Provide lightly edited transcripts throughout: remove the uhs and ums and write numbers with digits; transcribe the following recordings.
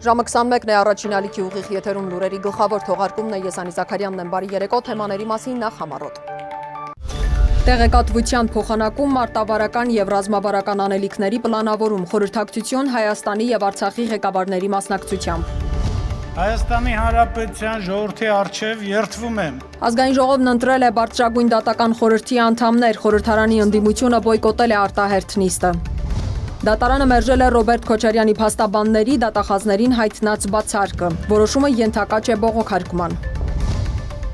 Ժամը 21-ն է, առաջին ալիքի ուղիղ եթերում լուրերի գլխավոր թողարկումն է, ես Անի Զաքարյանն եմ, բարի երեկո, թեմաների մասին նախ համառոտ։ Տեղեկատվության փոխանակում, մարտավարական եւ ռազմավարական անելիքների պլանավորում, խորհրդակցություն Հայաստանի եւ Արցախի ղեկավարների մասնակցությամբ։ Հայաստանի Հանրապետության ժողովրդի առջև երդվում եմ։ Ազգային ժողովն ընտրել է բարձրագույն դատական խորհրդի անդամներ, խորհրդարանի ընդդիմությունը բոյկոտել է արտահերթ նիստը։ Դատարանը մերժել է Ռոբերտ Քոչարյանի փաստաբանների դատախազներին հայտնած բացարկը, որոշումը ենթակա չէ բողոքարկման։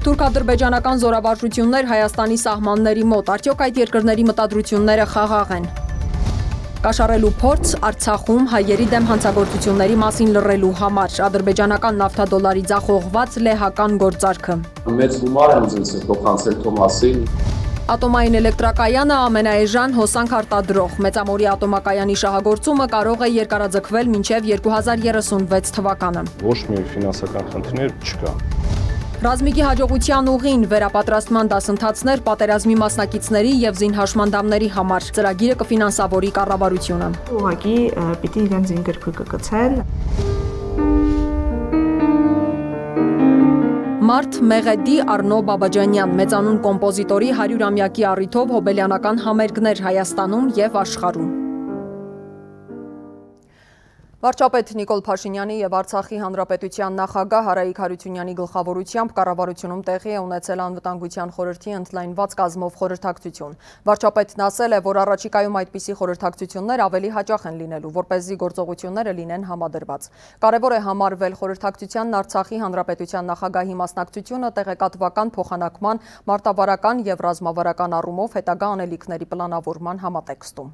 Թուրք-ադրբեջանական զորավարժություններ Հայաստանի սահմանների մոտ, արդյոք այդ երկրների մտադրությունները խաղաղ են։ Կաշառելու փորձ Արցախում հայերի դեմ հանցագործությունների մասին լռելու համար, ադրբեջանական նավթադոլարի ձախողված լեհական գործարքը։ Մեծ գումար են ձեզ փոխանցել Թոմասին։ Ատոմային էլեկտրակայանը ամենաէժան հոսանք արտադրող, Մեծամորի ատոմակայանի շահագործումը կարող է երկարաձգվել մինչև 2036 թվականը։ Ոչ մի ֆինանսական խնդիրներ չկա։ Ռազմիկի հաջողության ուղին, վերապատրաստման դասընթացներ պատերազմի մասնակիցների եւ զինհաշմանդամների համար, ծրագիրը կֆինանսավորի կառավարությունը։ Ուղղակի պիտի իրենց զինգրքը կգցեն։ Մարդ Մեղեդի Արնո Բաբաջանյան, մեծանուն կոմպոզիտորի 100-ամյակի առիթով հոբելյանական համերգներ Հայաստանում եւ աշխարհում։ Վարչապետ Նիկոլ Փաշինյանի եւ Արցախի Հանրապետության նախագահ Հարայիկ Հարությունյանի գլխավորությամբ կառավարությունում տեղի է ունեցել անվտանգության խորհրդի ընդլայնված կազմով խորհրդակցություն։ Վարչապետն ասել է, որ առաջիկայում այդպիսի խորհրդակցություններ ավելի հաճախ են լինելու, որպեսզի գործողությունները լինեն համադրված։ Կարևոր է համարվել խորհրդակցությանն Արցախի Հանրապետության նախագահի մասնակցությունը տեղեկատվական փոխանակման, մարտավարական եւ ռազմավարական առումով հետագա անելիքների պլանավորման համատեքստում։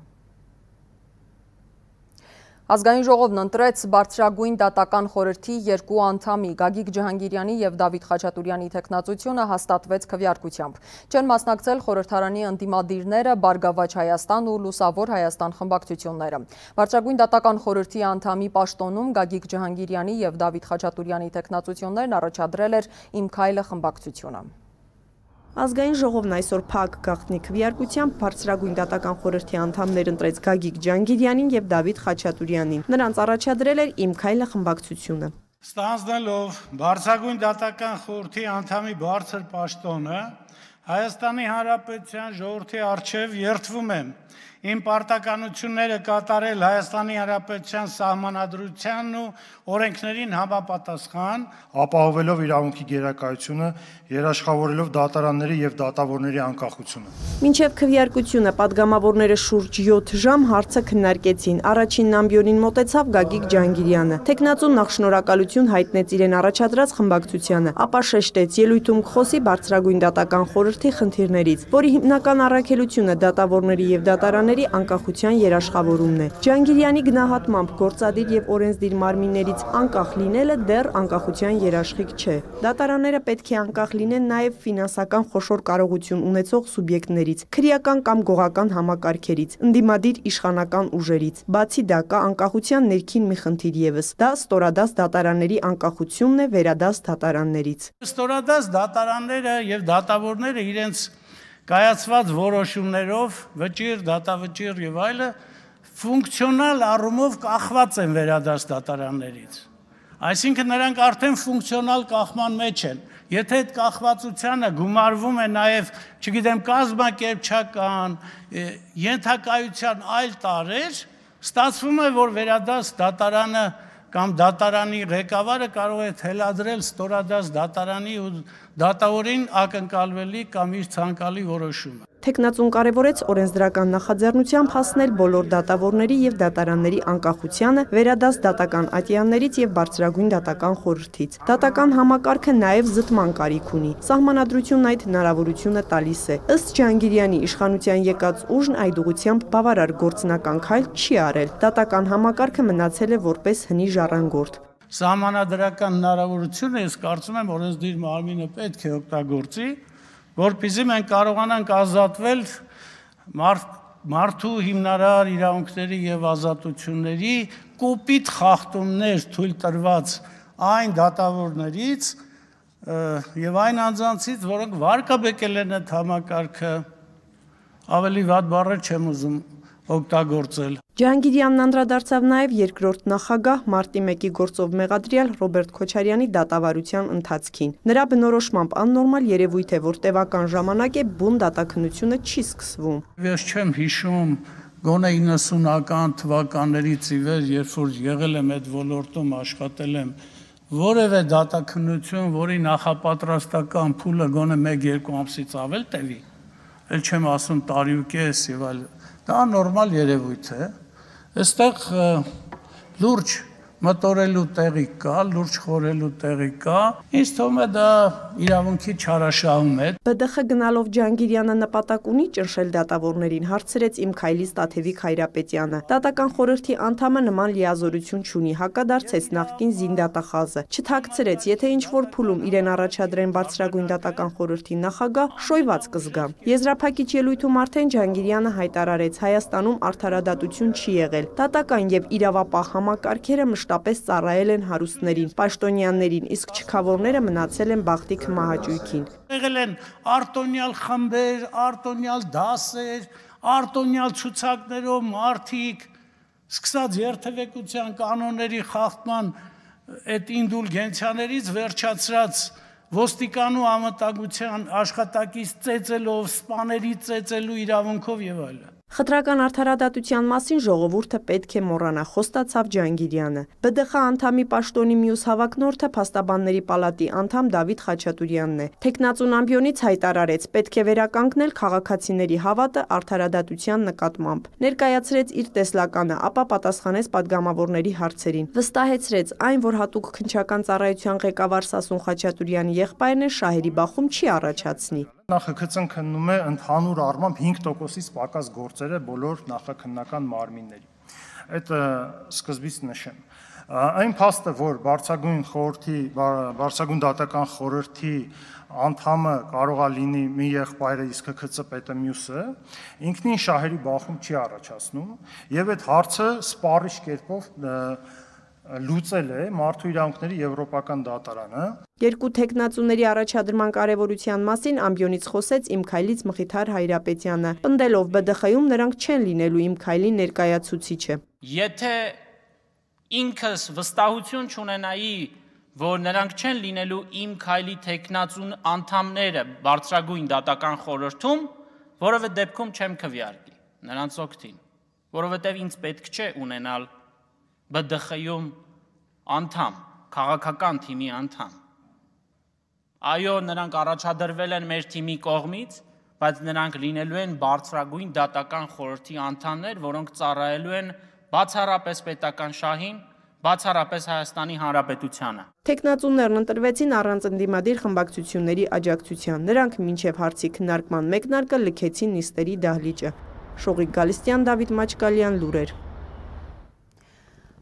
Ազգային ժողովն ընտրեց բարձրագույն դատական խորհրդի երկու անդամի Գագիկ Ջհանգիրյանի եւ Դավիթ Խաչատուրյանի թեկնածությունը հաստատվեց քվեարկությամբ։ Չեն մասնակցել խորհրդարանի ընդդիմադիրները, Բարգավաճ Հայաստան ու Լուսավոր Հայաստան խմբակցությունները։ Բարձրագույն դատական խորհրդի անդամի պաշտոնում Գագիկ Ջհանգիրյանի եւ Դավիթ Խաչատուրյանի թեկնածություններն առաջադրել էր Իմ քայլը խմբակցությունը։ Ազգային ժողովն այսօր փակ գաղտնի քվեարկությամբ բարձրագույն դատական խորհրդի անդամներ ընտրեց Գագիկ Ջհանգիրյանին եւ Դավիթ Խաչատուրյանին։ Նրանց առաջադրել էր Իմ քայլը խմբակցությունը։ Ստանձնելով բարձրագույն դատական խորհրդի անդամի բարձր պաշտոնը, Հայաստանի Հանրապետության ժողովրդի առջև երդվում եմ իմ պարտականությունները կատարել Հայաստանի Հանրապետության սահմանադրությանն ու օրենքներին համապատասխան, ապահովելով իրավունքի գերակայությունը, երաշխավորելով դատարանների եւ դատավորների անկախությունը։ Մինչև քվեարկությունը падգամավորները շուրջ 7 ժամ հարցը քննարկեցին։ Առաջին ամբիոնին մոտեցավ Գագիկ Ջհանգիրյանը։ Տեխնացուն նախ շնորհակալություն հայտնեց իրեն առաջադրած խմբակցությանը, ապա շեշտեց ելույթում կխոսի բարձրագույն դատական խորհրդի խնդիրներից, որի հիմնական առաքելությունը դատավորների եւ դատարանների անկախության երաշխավորումն է։ Ջհանգիրյանի գնահատմամբ գործադիր եւ օրենսդիր մարմիններից անկախ լինելը դեռ անկախության երաշխիք չէ։ Դատարանները պետք է անկախ լինեն նաեւ ֆինանսական խոշոր կարողություն ունեցող սուբյեկտներից, քրեական կամ գողական համակարգերից, ընդդիմադիր իշխանական ուժերից։ Բացի դա կա անկախության ներքին մի խնդիր եւս։ Դա ստորադաս դատարանների անկախությունն է վերադաս դատարաններից։ Ստորադաս դատարանները եւ դատավորները իրենց կայացված որոշումներով, վճիռ, դատավճիռ եւ այլը ֆունկցիոնալ առումով կախված են վերադաս դատարաններից։ Այսինքն նրանք արդեն ֆունկցիոնալ կախման մեջ են։ Եթե այդ կախվածությանը գումարվում է նաեւ, չգիտեմ, կազմակերպչական, ենթակայության այլ տարրեր, ստացվում է, որ վերադաս դատարանը կամ դատարանի ղեկավարը կարող է թելադրել ստորադաս դատարանի ու դատավորին ակնկալվելի կամ իր ցանկալի որոշումը։ Տեխնացուն կարևորեց օրենսդրական նախաձեռնությամբ հասնել բոլոր դատավորների եւ դատարանների անկախությանը, վերադաս դատական ատյաններից եւ բարձրագույն դատական խորհրդից։ Դատական համակարգը նաեւ զտման կարիք ունի։ Սահմանադրությունն այդ հնարավորությունը տալիս է։ Ըստ Ջհանգիրյանի իշխանության եկած ուժն այդ ուղղությամբ բավարար գործնական քայլ չի արել։ Դատական համակարգը մնացել է որպես հնի ժառանգորդ։ Սահմանադրական հնարավորությունը ես կարծում եմ օրենսդիր մարմինը պետք է օգտագործի, որպեսզի մենք կարողանանք ազատվել մարդու հիմնարար իրավունքների եւ ազատությունների կոպիտ խախտումներ թույլ տրված այն դատավորներից եւ այն անձանցից, որոնք վարկաբեկել են այդ համակարգը, ավելի վատ բառեր չեմ ուզում օգտագործել։ Ջահանգիրյանն անդրադարձավ նաև երկրորդ նախագահ մարտի 1-ի գործով մեղադրյալ Ռոբերտ Քոչարյանի դատավարության ընթացքին։ Նրա բնորոշմամբ աննորմալ երևույթ է, որ տևական ժամանակ է բուն դատաքննությունը չի սկսվում։ Ես չեմ հիշում գոնե 90-ական թվականներից ի վեր, երբ որ եղել եմ այդ ոլորտում, աշխատել եմ, որևէ դատաքննություն, որի նախապատրաստական փուլը գոնե 1-2 ամսից ավել տևի, էլ չեմ ասում տարի ու կես եւ այլ, դա նորմալ երևույթ է։ Այստեղ լուրջ մտորելու տեղի կա, լուրջ խորելու տեղի կա, ինձ թվում է դա իրավունքի չարաշահում է։ ԲԴԽ գնալով Ջահանգիրյանը նպատակ ունի ճնշել դատավորներին, հարցրեց Իմ Քայլից Տաթևիկ Հայրապետյանը։ Դատական խորհրդի անդամը նման լիազորություն չունի, հակադարձեց նախկին զինդատախազը։ Չթաքցրեց, եթե ինչ-որ փուլում իրեն առաջադրեն բարձրագույն դատական խորհրդի նախագահ, շոյված կզգա։ Եզրափակիչ ելույթում արդեն Ջահանգիրյանը հայտարարեց, Հայաստանում արդարադատություն չի եղել։ Դատական եւ իրավապահ համակարգերը մշտապես ծառայել են հարուստներին, պաշտոնյաներին, իսկ չքավորները մնացել են բախտի քմահաճույքին։ Եղել են արտոնյալ խմբեր, արտոնյալ դասեր, արտոնյալ ցուցակներով մարդիկ, սկսած երթևեկության կանոնների խախտման այդ ինդուլգենցիաներից վերջացրած ոստիկանու անվտանգության աշխատակից ծեծելով, սպաների ծեծելու իրավունքով եւ այլն։ Խտրական արդարադատության մասին ժողովուրդը պետք է մոռանա, խոստացավ Ջահանգիրյանը։ ԲԴԽ անդամի պաշտոնի մյուս հավակնորդը փաստաբանների պալատի անդամ Դավիթ Խաչատուրյանն է։ Թեկնածուն ամբիոնից հայտարարեց, պետք է վերականգնել քաղաքացիների հավատը արդարադատության նկատմամբ։ Ներկայացրեց իր տեսլականը, ապա պատասխանեց падգամավորների հարցերին։ Վստահեցրեց, այն, որ հատուկ քննչական ծառայության ղեկավար Սասուն Խաչատուրյանի եղբայրն է, շահերի բախում չի առաջացնի։ Նախագծն քննում է ընդհանուր առմամբ 5%-ից պակաս գործերը բոլոր նախաքննական մարմինների։ Այդ սկզբից նշեմ։ Այն փաստը, որ բարձրագույն դատական խորհրդի անդամը կարող է լինի մի եղբայրը, իսկ ԿՔԾ պետը մյուսը, ինքնին շահերի բախում չի առաջացնում, եւ այդ հարցը սպառիչ կերպով լուծել է Մարդու իրավունքների Եվրոպական դատարանը։ Երկու թեկնածուների առաջադրման կարևորության մասին ամբիոնից խոսեց Իմ Քայլից Մխիթար Հայրապետյանը, պնդելով ԲԴԽ-ում նրանք չեն լինելու Իմ Քայլի ներկայացուցիչը։ Եթե ինքս վստահություն չունենայի, որ նրանք չեն լինելու Իմ Քայլի թեկնածուն անդամները բարձրագույն դատական խորհրդում, որովհետև դեպքում չեմ քվեարկի նրանց օգտին, որովհետև ինձ պետք չէ ունենալ ԲԴԽ-ում անդամ, քաղաքական թիմի անդամ։ Այո, նրանք առաջադրվել են մեր թիմի կողմից, բայց նրանք լինելու են բարձրագույն դատական խորհրդի անդամներ, որոնք ծառայելու են բացառապես պետական շահին, բացառապես Հայաստանի Հանրապետությանը։ Թեկնածուներն ընտրվեցին առանց ընդդիմադիր խմբակցությունների աջակցության։ Նրանք մինչև հարցի քննարկման մեկնարկը լքեցին նիստերի դահլիճը։ Շողիկ Գալստյան, Դավիթ Մաչկալյան, լուրեր։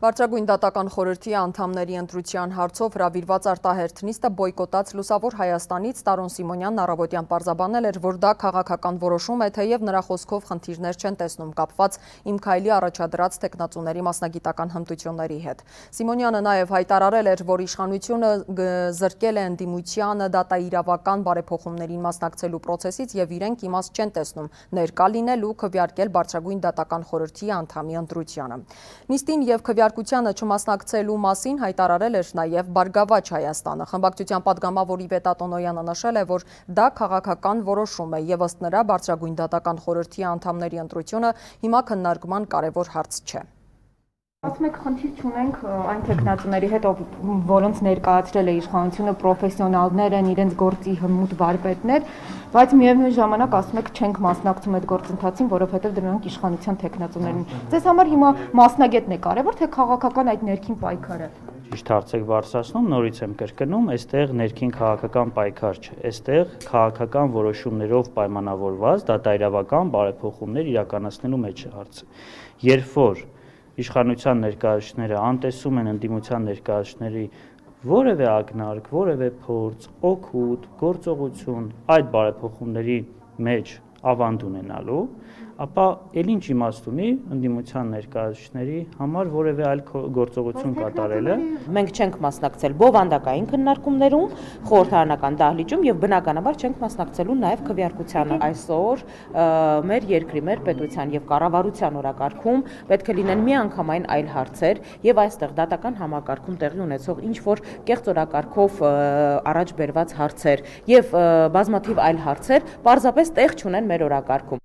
Բարձրագույն դատական խորհրդի անդամների ընտրության հարցով հրավիրված արտահերթ նիստը բոյկոտած Լուսավոր Հայաստանից Տարոն Սիմոնյանն առավոտյան պարզաբանել էր, որ դա քաղաքական որոշում է, թեև նրա խոսքով խնդիրներ չեն տեսնում կապված Իմ Քայլի առաջադրած թեկնածուների մասնագիտական հմտությունների հետ։ Սիմոնյանը նաև հայտարարել էր, որ իշխանությունը զրկել է ընդդիմությանը դատաիրավական բարեփոխումներին մասնակցելու process-ից եւ իրենք իմաստ չեն տեսնում ներկա լինել ու քվեարկել Բարձրագույն դատական խորհրդի անդամի ընտրությանը։ Նիստին եւ քվեարկությանը չմասնակցելու մասին հայտարարել էր նաև Բարգավաճ Հայաստանը։ Խմբակցության падգամավոր Իվետ Ատոնոյանը նշել է, որ դա քաղաքական որոշում է եւ ըստ նրա Բարձրագույն դատական խորհրդի անդամների ընտրությունը հիմա քննարկման կարևոր հարց չէ։ Ասում եք, խնդիր չունենք այն թեկնածուների հետ, որոնց ներկայացրել է իշխանությունը, պրոֆեսիոնալներ են, իրենց գործի հմուտ վարպետներ, բայց միևնույն ժամանակ ասում եք, չենք մասնակցում այդ գործընթացին, որովհետև դրանք իշխանության թեկնածուներն են։ Ձեզ համար հիմա մասնագետն է կարևոր, թե քաղաքական այդ ներքին պայքարը։ Ճիշտ հարց եք բարձրացնում, նորից եմ կրկնում, այստեղ ներքին քաղաքական պայքար չէ, այստեղ քաղաքական որոշումներով պայմանավորված դատաիրավական բարեփոխումներ իրականացնելու մեջ է հարցը։ Երբ որ իշխանության ներկայացուցիչները անտեսում են ընդդիմության ներկայացուցիչների որևէ ակնարկ, որևէ փորձ, օգուտ, գործողություն այդ բարեփոխումների մեջ ավանդ ունենալու, ապա ել ինչ իմաստ ունի ընդդիմության ներկայացուցիչների համար որևէ այլ գործողություն կատարելը։ Մենք չենք մասնակցել բովանդակային քննարկումներում, խորհրդարանական դահլիճում եւ բնականաբար չենք մասնակցելու նաեւ քվեարկությանը։ Այսօր մեր երկրի, մեր պետության եւ կառավարության օրակարգում պետք է լինեն միանգամայն այլ հարցեր եւ այստեղ դատական համակարգում տեղի ունեցող ինչ որ կեղծ օրակարգով առաջ բերված հարցեր եւ բազմաթիվ այլ հարցեր պարզապես տեղ չունեն մեր օրակարգում։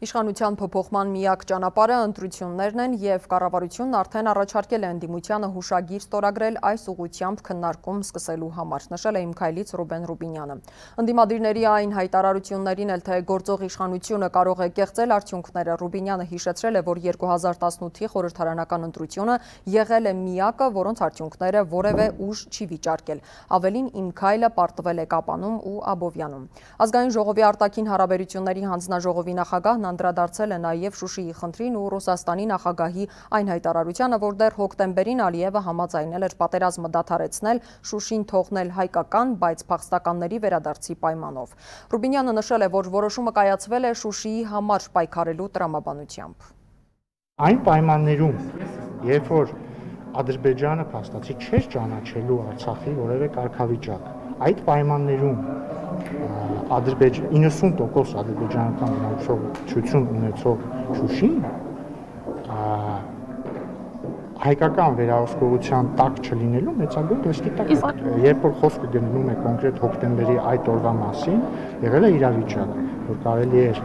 Իշխանության փոփոխման միակ ճանապարհը ընտրություններն են եւ կառավարությունն արդեն առաջարկել է ընդդիմությանը հուշագիր ստորագրել այս ուղղությամբ քննարկում սկսելու համար, նշել է Իմ քայլից Ռուբեն Ռուբինյանը։ Ընդդիմադիրների այն հայտարարություններին էլ թե գործող իշխանությունը կարող է կեղծել արդյունքները, Ռուբինյանը հիշեցրել է, որ 2018-ի խորհրդարանական ընտրությունը եղել է միակը, որոնց արդյունքները որևէ ուժ չի վիճարկել։ Ավելին Իմ քայլը պարտվել է Կապանում ու Աբովյանում։ Ազգային ժողովի արտաքին հարաբերությունների հանձնաժողովի նախագահ անդրադարձել է նաև Շուշիի խնդրին ու Ռուսաստանի նախագահի այն հայտարարությանը, որ դեռ հոկտեմբերին Ալիևը համաձայնել էր պատերազմը դադարեցնել, Շուշին թողնել հայկական, բայց փախստականների վերադարձի պայմանով։ Ռուբինյանը նշել է, որ որոշումը կայացվել է Շուշիի համար պայքարելու տրամաբանությամբ։ Այն պայմաններում, երբ որ Ադրբեջանը փաստացի չէր ճանաչելու Արցախի որևէ կարգավիճակ, այդ պայմաններում 90% ադրբեջանական բնակչություն ունեցող Շուշին հայկական վերահսկողության տակ չլինելու մեծագույն ռիսկի տակ է։ Երբ որ խոսքը գնում է կոնկրետ հոկտեմբերի այդ օրվա մասին, եղել է իրավիճակ, որ կարելի էր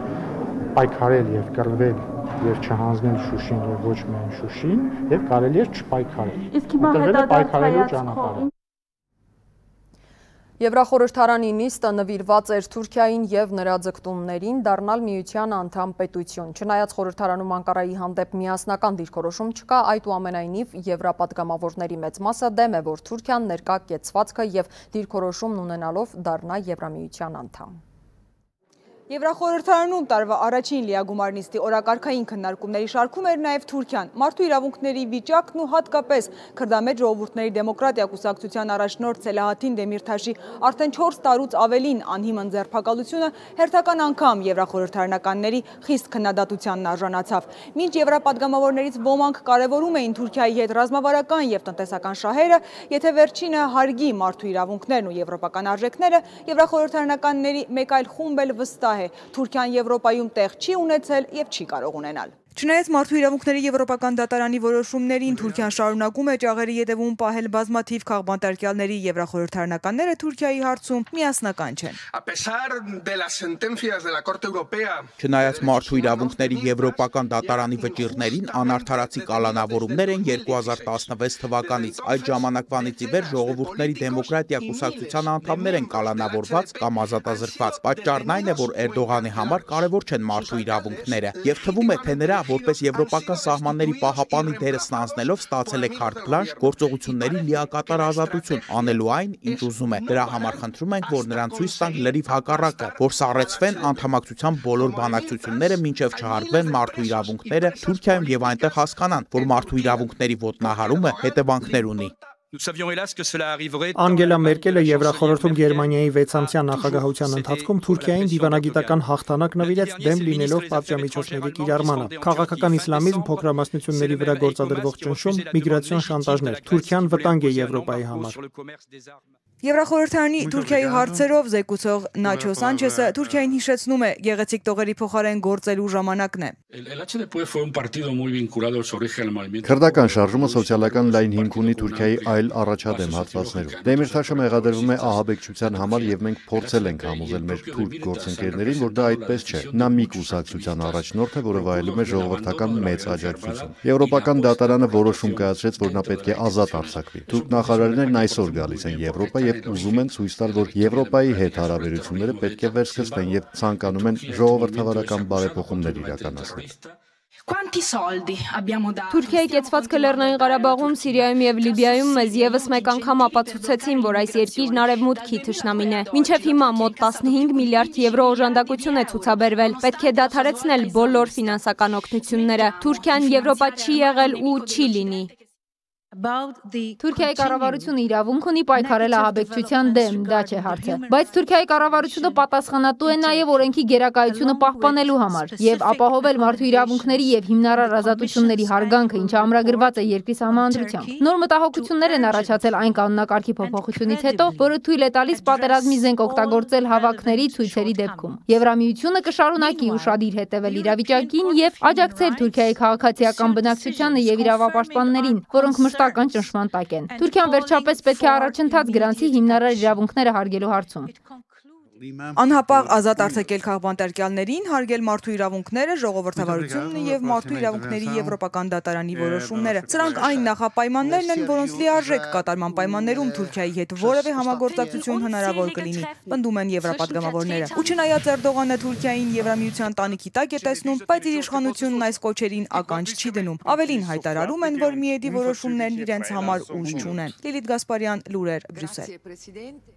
պայքարել եւ կռվել եւ չհանձնել Շուշին եւ ոչ միայն Շուշին, եւ կարելի էր չպայքարել։ Իսկ հիմա հետադարձ ճանապարհը Եվրախորհրդարանի նիստը նվիրված էր Թուրքիային եւ նրա ձգտումներին դառնալ միության անդամ պետություն։ Չնայած խորհրդարանում Անկարայի հանդեպ միասնական դիրքորոշում չկա, այդուամենայնիվ եվրապատգամավորների մեծ մասը դեմ է, որ Թուրքիան ներկա կեցվածքը եւ դիրքորոշումն ունենալով դառնա Եվրամիության անդամ։ Եվրախորհրդարանում տարվա առաջին լիագումար նիստի օրակարգային քննարկումների շարքում էր նաև Թուրքիան։ Մարդու իրավունքների վիճակն ու հատկապես քրդամետ ժողովուրդների դեմոկրատիա կուսակցության առաջնորդ Սելահաթին Դեմիրթաշի արդեն 4 տարուց ավելին անհիմն ձերբակալությունը հերթական անգամ եվրախորհրդարանականների խիստ քննադատությանն արժանացավ։ Մինչ եվրապատգամավորներից ոմանք կարևորում էին Թուրքիայի հետ ռազմավարական եւ տնտեսական շահերը, եթե վերջինը հարգի մարդու իրավունքներն ու եվրոպական արժեքները, եվրախորհրդարանականների մեկ այլ խումբ էլ վստահ Թուրքիան Եվրոպայում տեղ չի ունեցել եւ չի կարող ունենալ։ Չնայած մարդու իրավունքների եվրոպական դատարանի որոշումներին Թուրքիան շարունակում է ճաղերի ետևում պահել բազմաթիվ քաղբանտարկյալների, եվրախորհրդարանականները Թուրքիայի հարցում միասնական չեն։ Չնայած մարդու իրավունքների եվրոպական դատարանի վճիռներին անարդարացի կալանավորումներ են 2016 թվականից, այդ ժամանակվանից ի վեր ժողովուրդների դեմոկրատիա կուսակցության անդամներ են կալանավորված կամ ազատազրկված։ Պատճառն այն է, որ Էրդողանի համար կարևոր չեն մարդու իրավունքները եւ թվում է, թե նրա որպես եվրոպական սահմանների պահապանի դերը ստանձնելով ստացել է քարտ բլանշ գործողությունների լիակատար ազատություն անելու այն, ինչ ուզում է։ Դրա համար խնդրում ենք, որ նրան ցույց տանք լրիվ հակառակը, որ սառեցվեն անդամակցության բոլոր բանակցությունները, մինչև չհարգվեն մարդու իրավունքները Թուրքիայում եւ այնտեղ հասկանան, որ մարդու իրավունքների ոտնահարումը հետևանքներ ունի։ Անգելա Մերկելը Եվրախորհրդում Գերմանիայի 6-ամսյա նախագահության ընթացքում Թուրքիային դիվանագիտական հաղթանակ նվիրեց դեմ լինելով պատժամիջոցների կիրառմանը։ Քաղաքական իսլամիզմ, փոքրամասնությունների վրա գործադրվող ճնշում, միգրացիոն շանտաժներ։ Թուրքիան վտանգ է Եվրոպայի համար։ Եվրախորհրդարանի Թուրքիայի հարցերով զեկուցող Նաչո Սանչեսը Թուրքիային հիշեցնում է գեղեցիկ տողերի փոխարեն գործելու ժամանակն է։ Քրդական շարժումը սոցիալական լայն հիմք ունի Թուրքիայի այլ առաջադեմ հատվածներում։ Դեմիրթաշը մեղադրվում է ահաբեկչության համար եւ մենք փորձել ենք համոզել մեր թուրք գործընկերներին, որ դա այդպես չէ։ Նա մի կուսակցության առաջնորդ է, որը վայելում է ժողովրդական մեծ աջակցություն։ Եվրոպական դատարանը որոշում կայացրեց, որ նա պետք է ազատ արձակվի։ Թուրք նախարարներն այսօր գալիս են Եվրոպա եւ ուզում են ցույց տալ, որ Եվրոպայի հետ հարաբերությունները պետք է վերսկսվեն եւ ցանկանում են ժողովրդավարական բարեփոխումներ իրականացնել։ Թուրքիայի կեցվածքը Լեռնային Ղարաբաղում, Սիրիայում եւ Լիբիայում մեզ եւս մեկ անգամ ապացուցեցին, որ այս երկիրն արևմուտքի թշնամին է։ Մինչեւ հիմա մոտ 15 միլիարդ եվրո օժանդակություն է ցուցաբերվել։ Պետք է դադարեցնել բոլոր ֆինանսական օգնությունները։ Թուրքիան Եվրոպա չի եղել ու չի լինի։ Թուրքիայի կառավարությունը իրավունք ունի պայքարել ահաբեկչության դեմ, դա չէ հարցը։ Բայց Թուրքիայի կառավարությունը պատասխանատու է նաև օրենքի գերակայությունը պահպանելու համար եւ ապահովել մարդու իրավունքների եւ հիմնարար ազատությունների հարգանքը, ինչը ամրագրված է երկրի սահմանադրությամբ։ Նոր մտահոգություններ են առաջացել այն կանոնակարգի փոփոխությունից հետո, որը թույլ է տալիս պատերազմի զենք օգտագործել հավաքների ցույցերի դեպքում։ Եվրամիությունը կշարունակի ուշադիր հետևել իրավիճակին եւ աջակցել Թուրքիայի քաղաքացիական բնակչությանը եւ իրավապաշտպաններին, որոնք մշտական ճնշման տակ են։ Թուրքիան վերջապես պետք է առաջընթաց գրանցի հիմնարար իրավունքները հարգելու հարցում։ Անհապաղ ազատ արձակել քաղբանտարկյալներին, հարգել մարդու իրավունքները, ժողովրդավարությունն եւ մարդու իրավունքների եվրոպական դատարանի որոշումները։ Սրանք այն նախապայմաններն են, որոնց լիարժեք կատարման պայմաններում Թուրքիայի հետ որևէ համագործակցություն հնարավոր կլինի, պնդում են եվրապատգամավորները։ Ու չնայած Էրդողանը Թուրքիային Եվրամիության տանիքի տակ է տեսնում, բայց իր իշխանությունն այս կոչերին ականջ չի դնում։ Ավելին հայտարարում են, որ միեդի որոշումներն իրենց համար ուժ չունեն։ Լիլիթ Գասպարյան, լուրեր, Բրյուսել։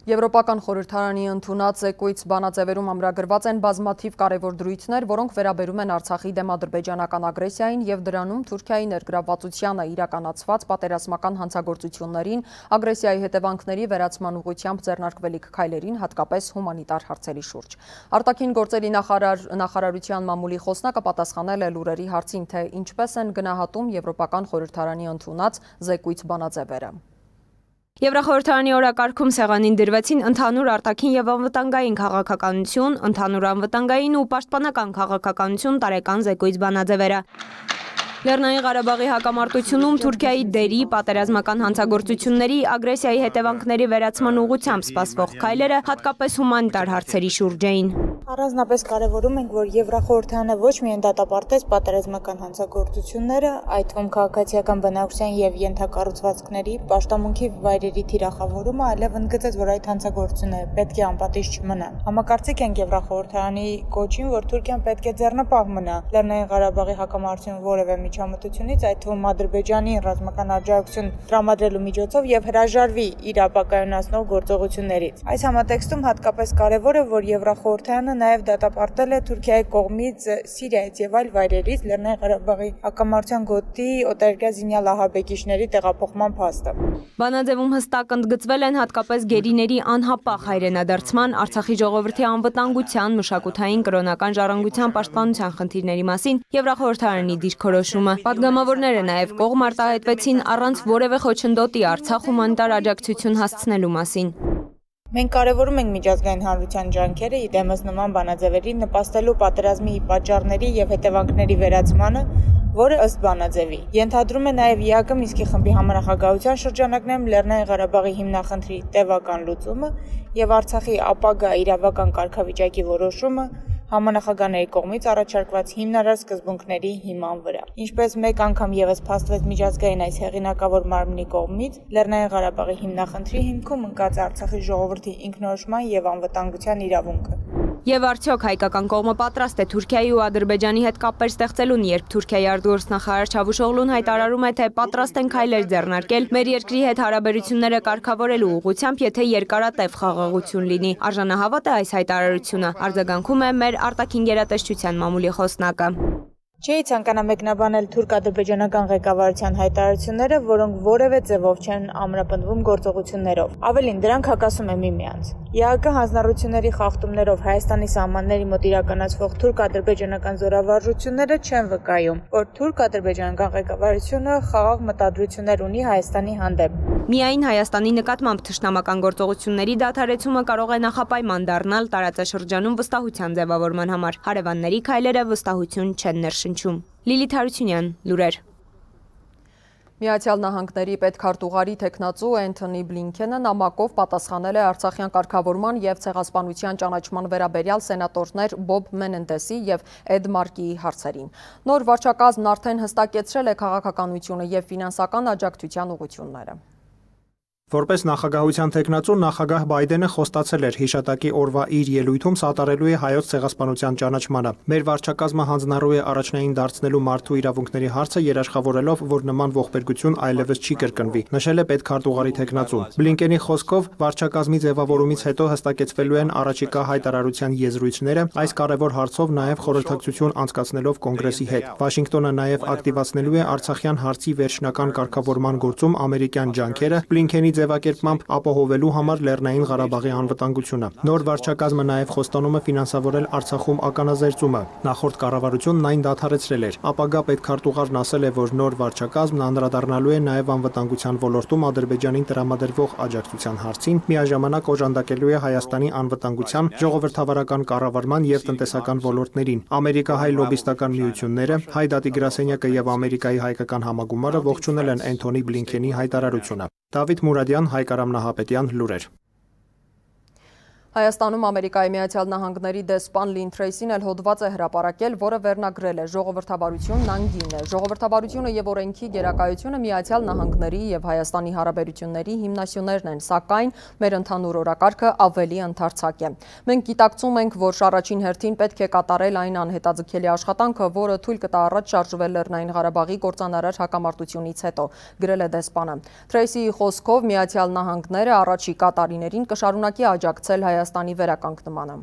Եվրոպական խորհրդարանի ընդունած զեկույց բանաձևերում ամրագրված են բազմաթիվ կարևոր դրույթներ, որոնք վերաբերում են Արցախի դեմ ադրբեջանական ագրեսիային եւ դրանում Թուրքիայի ներգրավվածությանը իրականացված պատերազմական հանցագործություններին, ագրեսիայի հետևանքների վերացման ուղղությամբ ձեռնարկվելիք քայլերին, հատկապես հումանիտար հարցերի շուրջ։ Արտաքին գործերի նախարարության մամուլի խոսնակը պատասխանել է լուրերի հարցին, թե ինչպես են գնահատում Եվրոպական խորհրդարանի ընդունած զեկույց բանաձևերը։ Եվրախորհրդարանի օրակարգում սեղանին դրվեցին ընդհանուր արտաքին եւ անվտանգային քաղաքականություն, ընդհանուր անվտանգային ու պաշտպանական քաղաքականություն տարեկան զեկույց բանաձևերը։ Լեռնային Ղարաբաղի հակամարտությունում Թուրքիայի դերի, պատերազմական հանցագործությունների, ագրեսիայի հետևանքների վերացման ուղղությամբ սպասվող քայլերը հատկապես հումանիտար հարցերի շուրջ էին։ Առանձնապես կարևորում ենք, որ Եվրախորհրդարանը ոչ միայն դատապարտեց պատերազմական հանցագործությունները, այդ թվում քաղաքացիական բնակչության եւ ենթակառուցվածքների, պաշտամունքի վայրերի թիրախավորումը, այլև ընդգծեց, որ այդ հանցագործությունները պետք է անպատիժ չմնան։ Համակարծիք ենք Եվրախորհրդարանի կոչին, որ Թուրքիան պետք է ձեռնպահ մնա Լեռնային Ղարաբաղի հակամարտությունում որևէ միջամտությունից, այդ թվում Ադրբեջանի ռազմական աջակցություն տրամադրելու միջոցով եւ հրաժարվի իր ապակայունացնող գործողություններից։ Այս համատեքստում հատկապես կարևոր է, որ Եվրախորհրդարանը նաև դատապարտել է Թուրքիայի կողմից Սիրիայից եւ այլ վայրերից Լեռնային Ղարաբաղի հակամարտության գոտի օտարերկրյա զինյալ ահաբեկիչների տեղափոխման փաստը։ Բանաձևում հստակ ընդգծվել են հատկապես գերիների անհապաղ հայրենադարձման, Արցախի ժողովրդի անվտանգության, մշակութային, կրոնական ժառանգության պաշտպանության խնդիրների մասին Եվրախորհրդարանի դիրքորոշումը։ Պատգամավորները նաև կողմ արտահայտվեցին առանց որևէ խոչընդոտի Արցախ հումանիտար աջակցություն հասցնելու մասին։ Մենք կարևորում ենք միջազգային հանրության ջանքերը իդեմս նման բանաձևերի նպաստելու պատերազմի պատճառների եւ հետևանքների վերացմանը, որը ըստ բանաձևի ենթադրում է նաև ԵԱԿ Մինսկի խմբի համանախագահության շրջանակներում Լեռնային Ղարաբաղի հիմնախնդրի տևական լուծումը եւ Արցախի ապագա իրավական կարգավիճակի որոշումը համանախագահների կողմից առաջարկված հիմնարար սկզբունքների հիման վրա։ Ինչպես մեկ անգամ եւս փաստվեց միջազգային այս հեղինակավոր մարմնի կողմից, Լեռնային Ղարաբաղի հիմնախնդրի հիմքում ընկած Արցախի ժողովրդի ինքնորոշման եւ անվտանգության իրավունքը։ Եվ արդյոք հայկական կողմը պատրաստ է Թուրքիայի ու Ադրբեջանի հետ կապեր ստեղծելուն, երբ Թուրքիայի արտգործնախարար Չավուշօղլուն հայտարարում է, թե պատրաստ են քայլեր ձեռնարկել մեր երկրի հետ հարաբերությունները կարգավորելու ուղղությամբ, եթե երկարատև խաղաղություն լինի։ Արժանահավատ է այս հայտարարությունը, արձագանքում է մեր արտաքին գերատեսչության մամուլի խոսնակը։ Չէի ցանկանա մեկնաբանել թուրք-ադրբեջանական ղեկավարության հայտարարությունները, որոնք որևէ ձևով չեն ամրապնդվում գործողություններով։ Ավելին, դրանք հակասում են միմյանց։ ԵԱԿ հանձնառությունների խախտումներով Հայաստանի սահմանների մոտ իրականացվող թուրք-ադրբեջանական զորավարժությունները չեն վկայում, որ թուրք-ադրբեջանական ղեկավարությունը խաղաղ մտադրություններ ունի Հայաստանի հանդեպ։ Միայն Հայաստանի նկատմամբ թշնամական գործողությունների դադարեցումը կարող է նախապայման դառնալ տարածաշրջանում վստահության ձևավորման համար։ Հարևանների քայլերը վստահություն չեն ներշնչում։ Լիլիթ Հարությունյան, լուրեր։ Միացյալ Նահանգների պետքարտուղարի տեխնացու Էնթոնի Բլինքենը նամակով պատասխանել է Արցախյան կարգավորման եւ ցեղասպանության ճանաչման վերաբերյալ սենատորներ Բոբ Մենենդեսի եւ Էդ Մարկիի հարցերին։ Նոր վարչակազմն արդեն հստակեցրել է քաղաքականությունը եւ ֆինանսական աջակցության ուղղությունները։ Որպես նախագահության թեկնածու նախագահ Բայդենը խոստացել էր հիշատակի օրվա իր ելույթում սատարելու է հայոց ցեղասպանության ճանաչմանը։ Մեր վարչակազմը հանձնառու է առաջնային դարձնելու մարդու իրավունքների հարցը երաշխավորելով, որ նման ողբերգություն այլևս չի կրկնվի, նշել է պետքարտուղարի թեկնածուն։ Բլինկենի խոսքով վարչակազմի ձևավորումից հետո հստակեցվելու են առաջիկա հայտարարության եզրույթները, այս կարևոր հարցով նաև խորհրդակցություն անցկացնելով կոնգրեսի հետ։ Վաշինգտոնը նաև ակտիվացնելու է Արցախյան հարցի վերջնական կարգավորման գործում ամերիկյան ջանքերը Բլինկենի ձևակերպմամբ ապահովելու համար Լեռնային Ղարաբաղի անվտանգությունը։ Նոր վարչակազմը նաև խոստանում է ֆինանսավորել Արցախում ականազերծումը։ Նախորդ կառավարությունն այն դադարեցրել էր։ Ապագա պետքարտուղարն ասել է, որ նոր վարչակազմն անդրադառնալու է նաև անվտանգության ոլորտում Ադրբեջանին տրամադրվող աջակցության հարցին, միաժամանակ օժանդակելու է Հայաստանի անվտանգության, ժողովրդավարական կառավարման եւ տնտեսական ոլորտներին։ Ամերիկահայ լոբիստական միությունները, Հայ դատի գրասենյակը եւ Ամերիկայի հայկական համագումարը ողջունել են Էնթոնի Բլինքենի հայտարարությունը։ Դավիթ Մուրադյան, Հայկարամ Նահապետյան, լուրեր։ Հայաստանում Ամերիկայի Միացյալ Նահանգների դեսպան Լին Թրեյսին էլ հոդված է հրապարակել, որը վերնագրել է «Ժողովրդավարությունն անգին է»։ Ժողովրդավարությունը եւ օրենքի գերակայությունը Միացյալ Նահանգների եւ Հայաստանի հարաբերությունների հիմնասյուներն են, սակայն մեր ընդհանուր օրակարգը ավելի ընդարձակ է։ Մենք գիտակցում ենք, որ առաջին հերթին պետք է կատարել այն անհետաձգելի աշխատանքը, որը թույլ կտա առաջ շարժվել Լեռնային Ղարաբաղի կործանարար հակամարտությունից հետո, գրել է դեսպանը։ Թրեյսիի խոսքով Միացյալ Նահանգները առաջիկա տարիներին կշարունակի աջակցել Հայաստանի վերականգնմանը։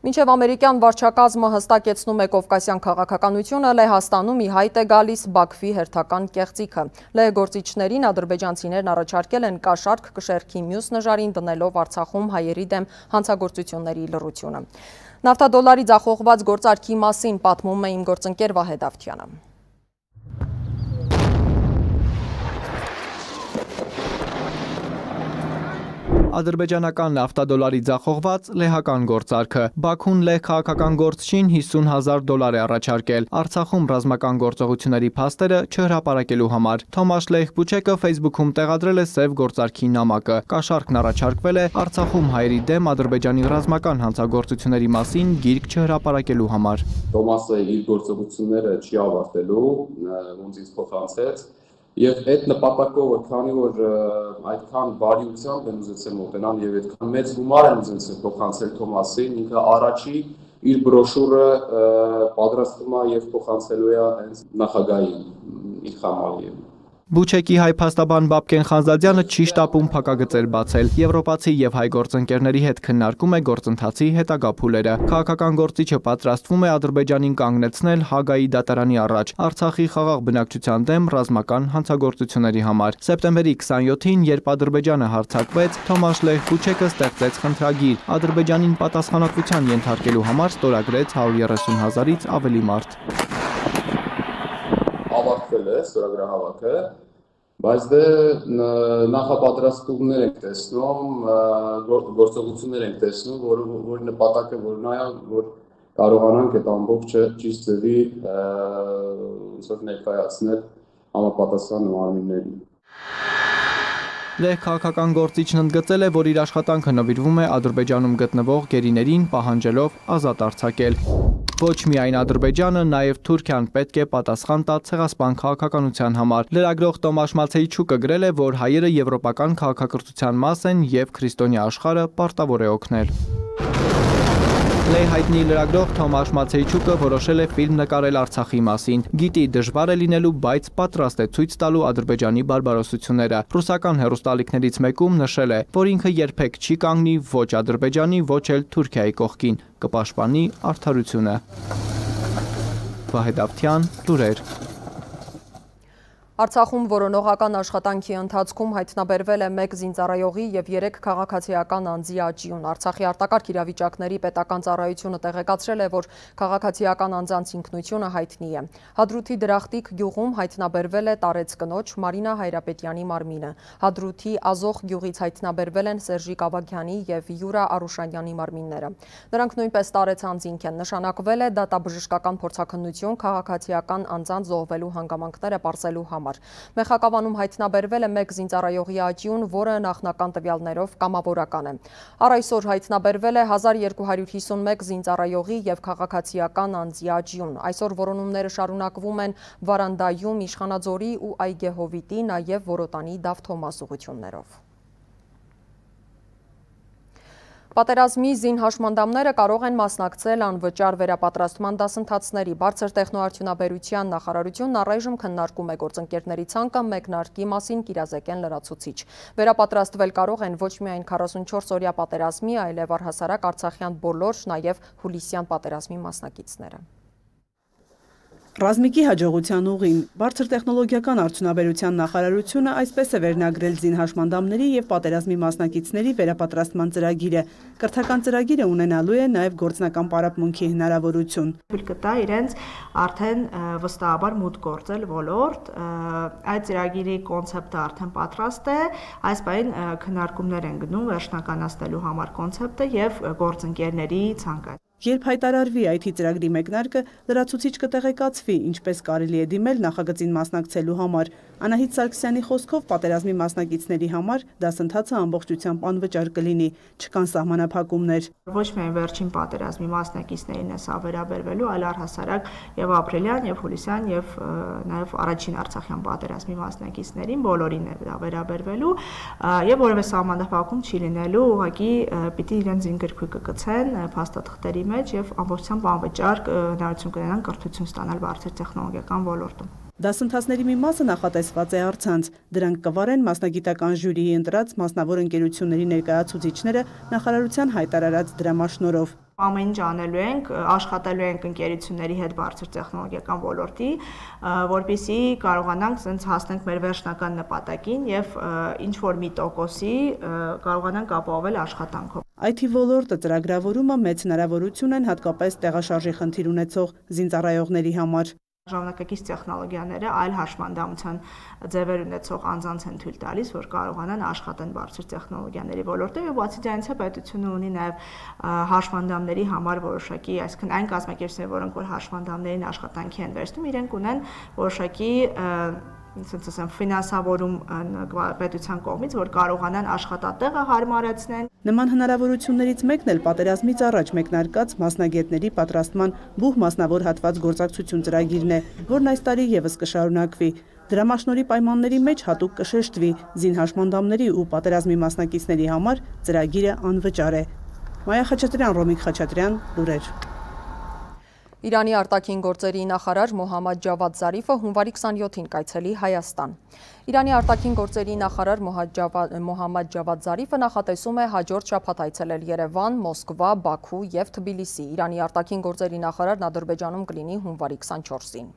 Մինչև ամերիկյան վարչակազմը հստակեցնում է կովկասյան քաղաքականությունը, Լեհաստանում ի հայտ է գալիս Բաքվի հերթական կեղծիքը։ Լեհգործիչներին ադրբեջանցիներն առաջարկել են կաշառք կշեռքի մյուս նժարին դնելով Արցախում հայերի դեմ հանցագործությունների լռությունը։ Նավթադոլարի ձախողված գործարքի մասին պատմում է իմ գործընկեր Վահե Դավթյանը։ Ադրբեջանական նավթադոլարի ձախողված լեհական գործարքը։ Բաքուն լեհ քաղաքական գործչին $50,000 է առաջարկել Արցախում ռազմական գործողությունների փաստերը չհրապարակելու համար։ Թոմաշ Լեհբուչեկը Facebook-ում տեղադրել է սև գործարքի նամակը։ Կաշառքն առաջարկվել է Արցախում հայերի դեմ Ադրբեջանի ռազմական հանցագործությունների մասին գիրք չհրապարակելու համար։ Թոմասը իր գործողությունները չի ավարտելու, ոնց ինձ փոխանցեց։ Եվ այդ նպատակով, քանի որ այդքան բարիությամբ են ուզեցել մոտենալ եւ այդքան մեծ գումար են ուզեցել փոխանցել Թոմասին, ինքը առաջի իր բրոշուրը պատրաստում է եւ փոխանցելու է հենց նախագահին Իլխամ Ալիևին։ Բուչեկի հայ փաստաբան Բաբկեն Խանզադյանը չի շտապում փակագծեր բացել։ Եվրոպացի եւ հայ գործընկերների հետ քննարկում է գործընթացի հետագա փուլերը։ Քաղաքական գործիչը պատրաստվում է Ադրբեջանին կանգնեցնել Հագայի դատարանի առաջ Արցախի խաղաղ բնակչության դեմ ռազմական հանցագործությունների համար։ Սեպտեմբերի 27-ին, երբ Ադրբեջանը հարձակվեց, Թոմաշ Լեհբուչեկը ստեղծեց խնդրագիր Ադրբեջանին պատասխանատվության ենթարկելու համար ստորագրեց 130,000-ից ավելի մարդ։ Ավարտվել է ստորագրահավաքը, բայց դե նախապատրաստումներ ենք տեսնում, գործողություններ ենք տեսնում, որի նպատակը որն է, որ կարողանանք այդ ամբողջը ճիշտ ձևի ներկայացնել համապատասխան մարմիններին։ Լեհ քաղաքական գործիչն ընդգծել է, որ իր աշխատանքը նվիրվում է Ադրբեջանում գտնվող գերիներին պահանջելով ազատ արձակել։ Ոչ միայն Ադրբեջանը, նաև Թուրքիան պետք է պատասխան տա ցեղասպան քաղաքականության համար։ Լրագրող Տոմաշ Մացեիչուկը գրել է, որ հայերը եվրոպական քաղաքակրթության մաս են եւ քրիստոնյա աշխարհը պարտավոր է օգնել։ Լեհ հայտնի լրագրող Թոմաշ Մացեիչուկը որոշել է ֆիլմ նկարել Արցախի մասին։ Գիտի դժվար է լինելու, բայց պատրաստ է ցույց տալու Ադրբեջանի բարբարոսությունները։ Ռուսական հեռուստաալիքներից մեկում նշել է, որ ինքը երբեք չի կանգնի ոչ Ադրբեջանի, ոչ էլ Թուրքիայի կողքին, կպաշտպանի արդարությունը։ Վահե Դավթյան, լուրեր։ Արցախում որոնողական աշխատանքի ընթացքում հայտնաբերվել է 1 զինծառայողի եւ 3 քաղաքացիական անձի աճյուն։ Արցախի արտակարգ իրավիճակների պետական ծառայությունը տեղեկացրել է, որ քաղաքացիական անձանց ինքնությունը հայտնի է։ Հադրութի Դրախտիկ գյուղում հայտնաբերվել է տարեց կնոջ Մարինա Հայրապետյանի մարմինը։ Հադրութի Ազոխ գյուղից հայտնաբերվել են Սերժիկ Ավագյանի եւ Յուրա Արուշանյանի մարմինները։ Նրանք նույնպես տարեց անձինք են։ Նշանակվել է դատաբժշկական փորձաքննություն քաղաքացիական անձանց զոհվելու հանգամանքները պարզելու համար։ համար։ Մեխակավանում հայտնաբերվել է 1 զինծառայողի աճյուն, որը նախնական տվյալներով կամավորական է։ Առ այսօր հայտնաբերվել է 1251 զինծառայողի եւ քաղաքացիական անձի աճյուն։ Այսօր որոնումները շարունակվում են Վարանդայում, Իշխանաձորի ու Այգեհովիտի, նաև Որոտանի Դավթոմաս ուղղություններով։ Պատերազմի զինհաշմանդամները կարող են մասնակցել անվճար վերապատրաստման դասընթացների։ Բարձր տեխնոարդյունաբերության նախարարությունն առայժմ քննարկում է գործընկերների ցանկը մեկնարկի մասին կիրազեկեն լրացուցիչ։ Վերապատրաստվել կարող են ոչ միայն 44-օրյա պատերազմի, այլև առհասարակ Արցախյան բոլոր, նաև հուլիսյան պատերազմի մասնակիցները։ Ռազմիկի հաջողության ուղին բարձր տեխնոլոգիական արդյունաբերության նախարարությունը այսպես է վերնագրել զինհաշմանդամների եւ պատերազմի մասնակիցների վերապատրաստման ծրագիրը։ Կրթական ծրագիրը ունենալու է նաեւ գործնական պարապմունքի հնարավորություն։ Թույլ կտա իրենց արդեն վստահաբար մուտք գործել ոլորտ, այդ ծրագիրի կոնցեպտը արդեն պատրաստ է, այս պահին քննարկումներ են գնում վերջնականացնելու համար կոնցեպտը եւ գործընկերների ցանկը։ Երբ հայտարարվի IT ծրագրի մեկնարկը, լրացուցիչ կտեղեկացվի, ինչպես կարելի է դիմել նախագծին մասնակցելու համար։ Անահիտ Սարգսյանի խոսքով պատերազմի մասնակիցների համար դասընթացը ամբողջությամբ անվճար կլինի, չկան սահմանափակումներ։ Ոչ միայն վերջին պատերազմի մասնակիցներին է սա վերաբերվելու, այլ առհասարակ եւ ապրիլյան, եւ հուլիսյան, եւ նաեւ առաջին Արցախյան պատերազմի մասնակիցներին բոլորին է դա վերաբերվելու, եւ որևէ սահմանափակում չի լինելու, ուղղակի պիտի իրենց զինգրքույկը կցեն փաստաթղթերի մեջ եւ ամբողջությամբ անվճար հնարավորություն կունենան կրթություն ստանալ բարձր տեխնոլոգիական ոլորտում։ Դասընթացների մի մասը նախատեսված է առցանց, դրանք կվարեն մասնագիտական ժյուրիի ընտրած մասնավոր ընկերությունների ներկայացուցիչները նախարարության հայտարարած դրամաշնորհով։ Ամեն ինչ անելու ենք, աշխատելու ենք ընկերությունների հետ բարձր տեխնոլոգիական ոլորտի, որպեսզի կարողանանք ցենց հասնենք մեր վերջնական նպատակին եւ ինչ որ մի տոկոսի կարողանանք ապահովել աշխատանքով։ IT ոլորտը ծրագրավորումը մեծ հնարավորություն են հատկապես տեղաշարժի խնդիր ունեցող զինծառայողների համար։ Ժամանակակից տեխնոլոգիաները այլ հաշմանդամության ձևեր ունեցող անձանց են թույլ տալիս, որ կարողանան աշխատեն բարձր տեխնոլոգիաների ոլորտում եւ բացի դրանից պետությունը ունի նաեւ հաշմանդամների համար որոշակի, այսինքն այն կազմակերպությունները, որոնք որ հաշմանդամներին աշխատանքի են վերցնում, իրենք ունեն որոշակի ասենց ասեմ ֆինանսավորում պետության կողմից, որ կարողանան աշխատատեղը հարմարեցնեն։ Նման հնարավորություններից մեկն էլ պատերազմից առաջ մեկնարկած մասնագետների պատրաստման բուհ մասնավոր հատված գործակցություն ծրագիրն է, որն այս տարի եւս կշարունակվի։ Դրամաշնորհի պայմանների մեջ հատուկ կշեշտվի զինհաշմանդամների ու պատերազմի մասնակիցների համար ծրագիրը անվճար է։ Մայա Խաչատրյան, Ռոմիկ Խաչատրյան, լուրեր։ Իրանի արտաքին գործերի նախարար Մոհամմադ Ջավադ Զարիֆը հունվարի 27-ին կայցելի Հայաստան։ Իրանի արտաքին գործերի նախարար Մոհամմադ Ջավադ Զարիֆը նախատեսում է հաջորդ շաբաթ այցելել Երևան, Մոսկվա, Բաքու եւ Թբիլիսի։ Իրանի արտաքին գործերի նախարարն Ադրբեջանում կլինի հունվարի 24-ին։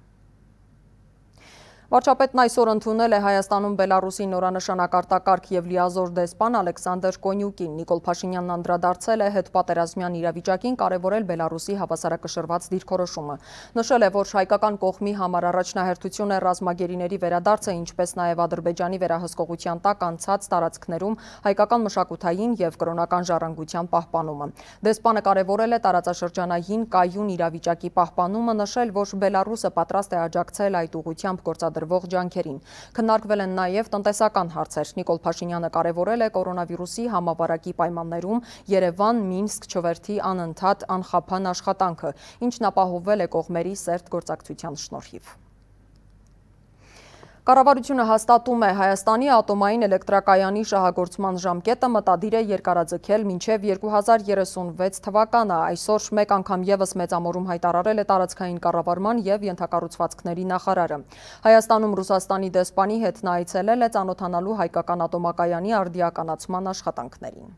Վարչապետն այսօր ընդունել է Հայաստանում Բելարուսի նորանշանակ արտակարգ եւ լիազոր դեսպան Ալեքսանդր Կոնյուկին։ Նիկոլ Փաշինյանն անդրադարձել է հետպատերազմյան իրավիճակին, կարևորել Բելարուսի հավասարակշռված դիրքորոշումը։ Նշել է, որ հայկական կողմի համար առաջնահերթություն է ռազմագերիների վերադարձը, ինչպես նաեւ Ադրբեջանի վերահսկողության տակ անցած տարածքներում հայկական մշակութային եւ կրոնական ժառանգության պահպանումը։ Դեսպանը կարևորել է տարածաշրջանային կայուն իրավիճակի պահպանումը, նշել, որ Բելարուսը պատրաստ է աջակցել այդ ուղղությամբ գործադրվող ջանքերին։ Քննարկվել են նաև տնտեսական հարցեր։ Նիկոլ Փաշինյանը կարևորել է կորոնավիրուսի համավարակի պայմաններում Երևան-Մինսկ չվերթի անընդհատ անխափան աշխատանքը, ինչն ապահովվել է կողմերի սերտ գործակցության շնորհիվ։ Կառավարությունը հաստատում է Հայաստանի ատոմային էլեկտրակայանի շահագործման ժամկետը մտադիր է երկարաձգել մինչև 2036 թվականը։ Այսօր մեկ անգամ եւս մեծամորում հայտարարել է տարածքային կառավարման եւ ենթակառուցվածքների նախարարը։ Հայաստանում Ռուսաստանի դեսպանի հետ նա այցելել է ծանոթանալու հայկական ատոմակայանի արդիականացման աշխատանքներին։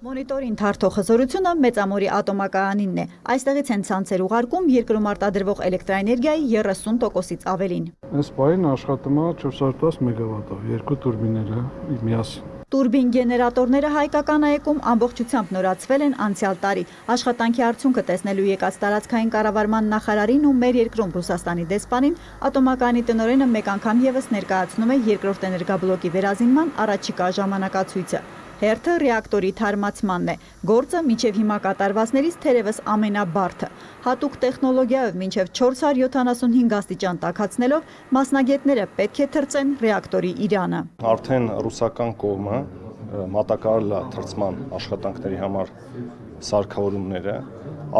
Մոնիտորի ընթարթող հզորությունը մեծամորի ատոմակայանինն է։ Այստեղից են ցանցեր ուղարկում երկրում արտադրվող էլեկտրաէներգիայի 30%-ից ավելին։ Այս պահին աշխատում է 410 մեգավատով, երկու տուրբիները միասին։ Տուրբին գեներատորները հայկական այգում ամբողջությամբ նորացվել են անցյալ տարի։ Աշխատանքի արդյունքը տեսնելու եկած տարածքային կառավարման նախարարին ու մեր երկրում Ռուսաստանի դեսպանին ատոմակայանի տնօրենը մեկ անգամ եւս ներկայացնում է երկրորդ էներգաբլոկի վերազինման առաջիկա ժամանակացույցը։ Հերթը ռեակտորի թարմացմանն է։ Գործը մինչև հիմա կատարվածներից թերևս ամենաբարդը։ Հատուկ տեխնոլոգիայով մինչև 475 աստիճան տաքացնելով մասնագետները պետք է թրծեն ռեակտորի իրանը։ Արդեն ռուսական կողմը մատակարարել է թրծման աշխատանքների համար սարքավորումները,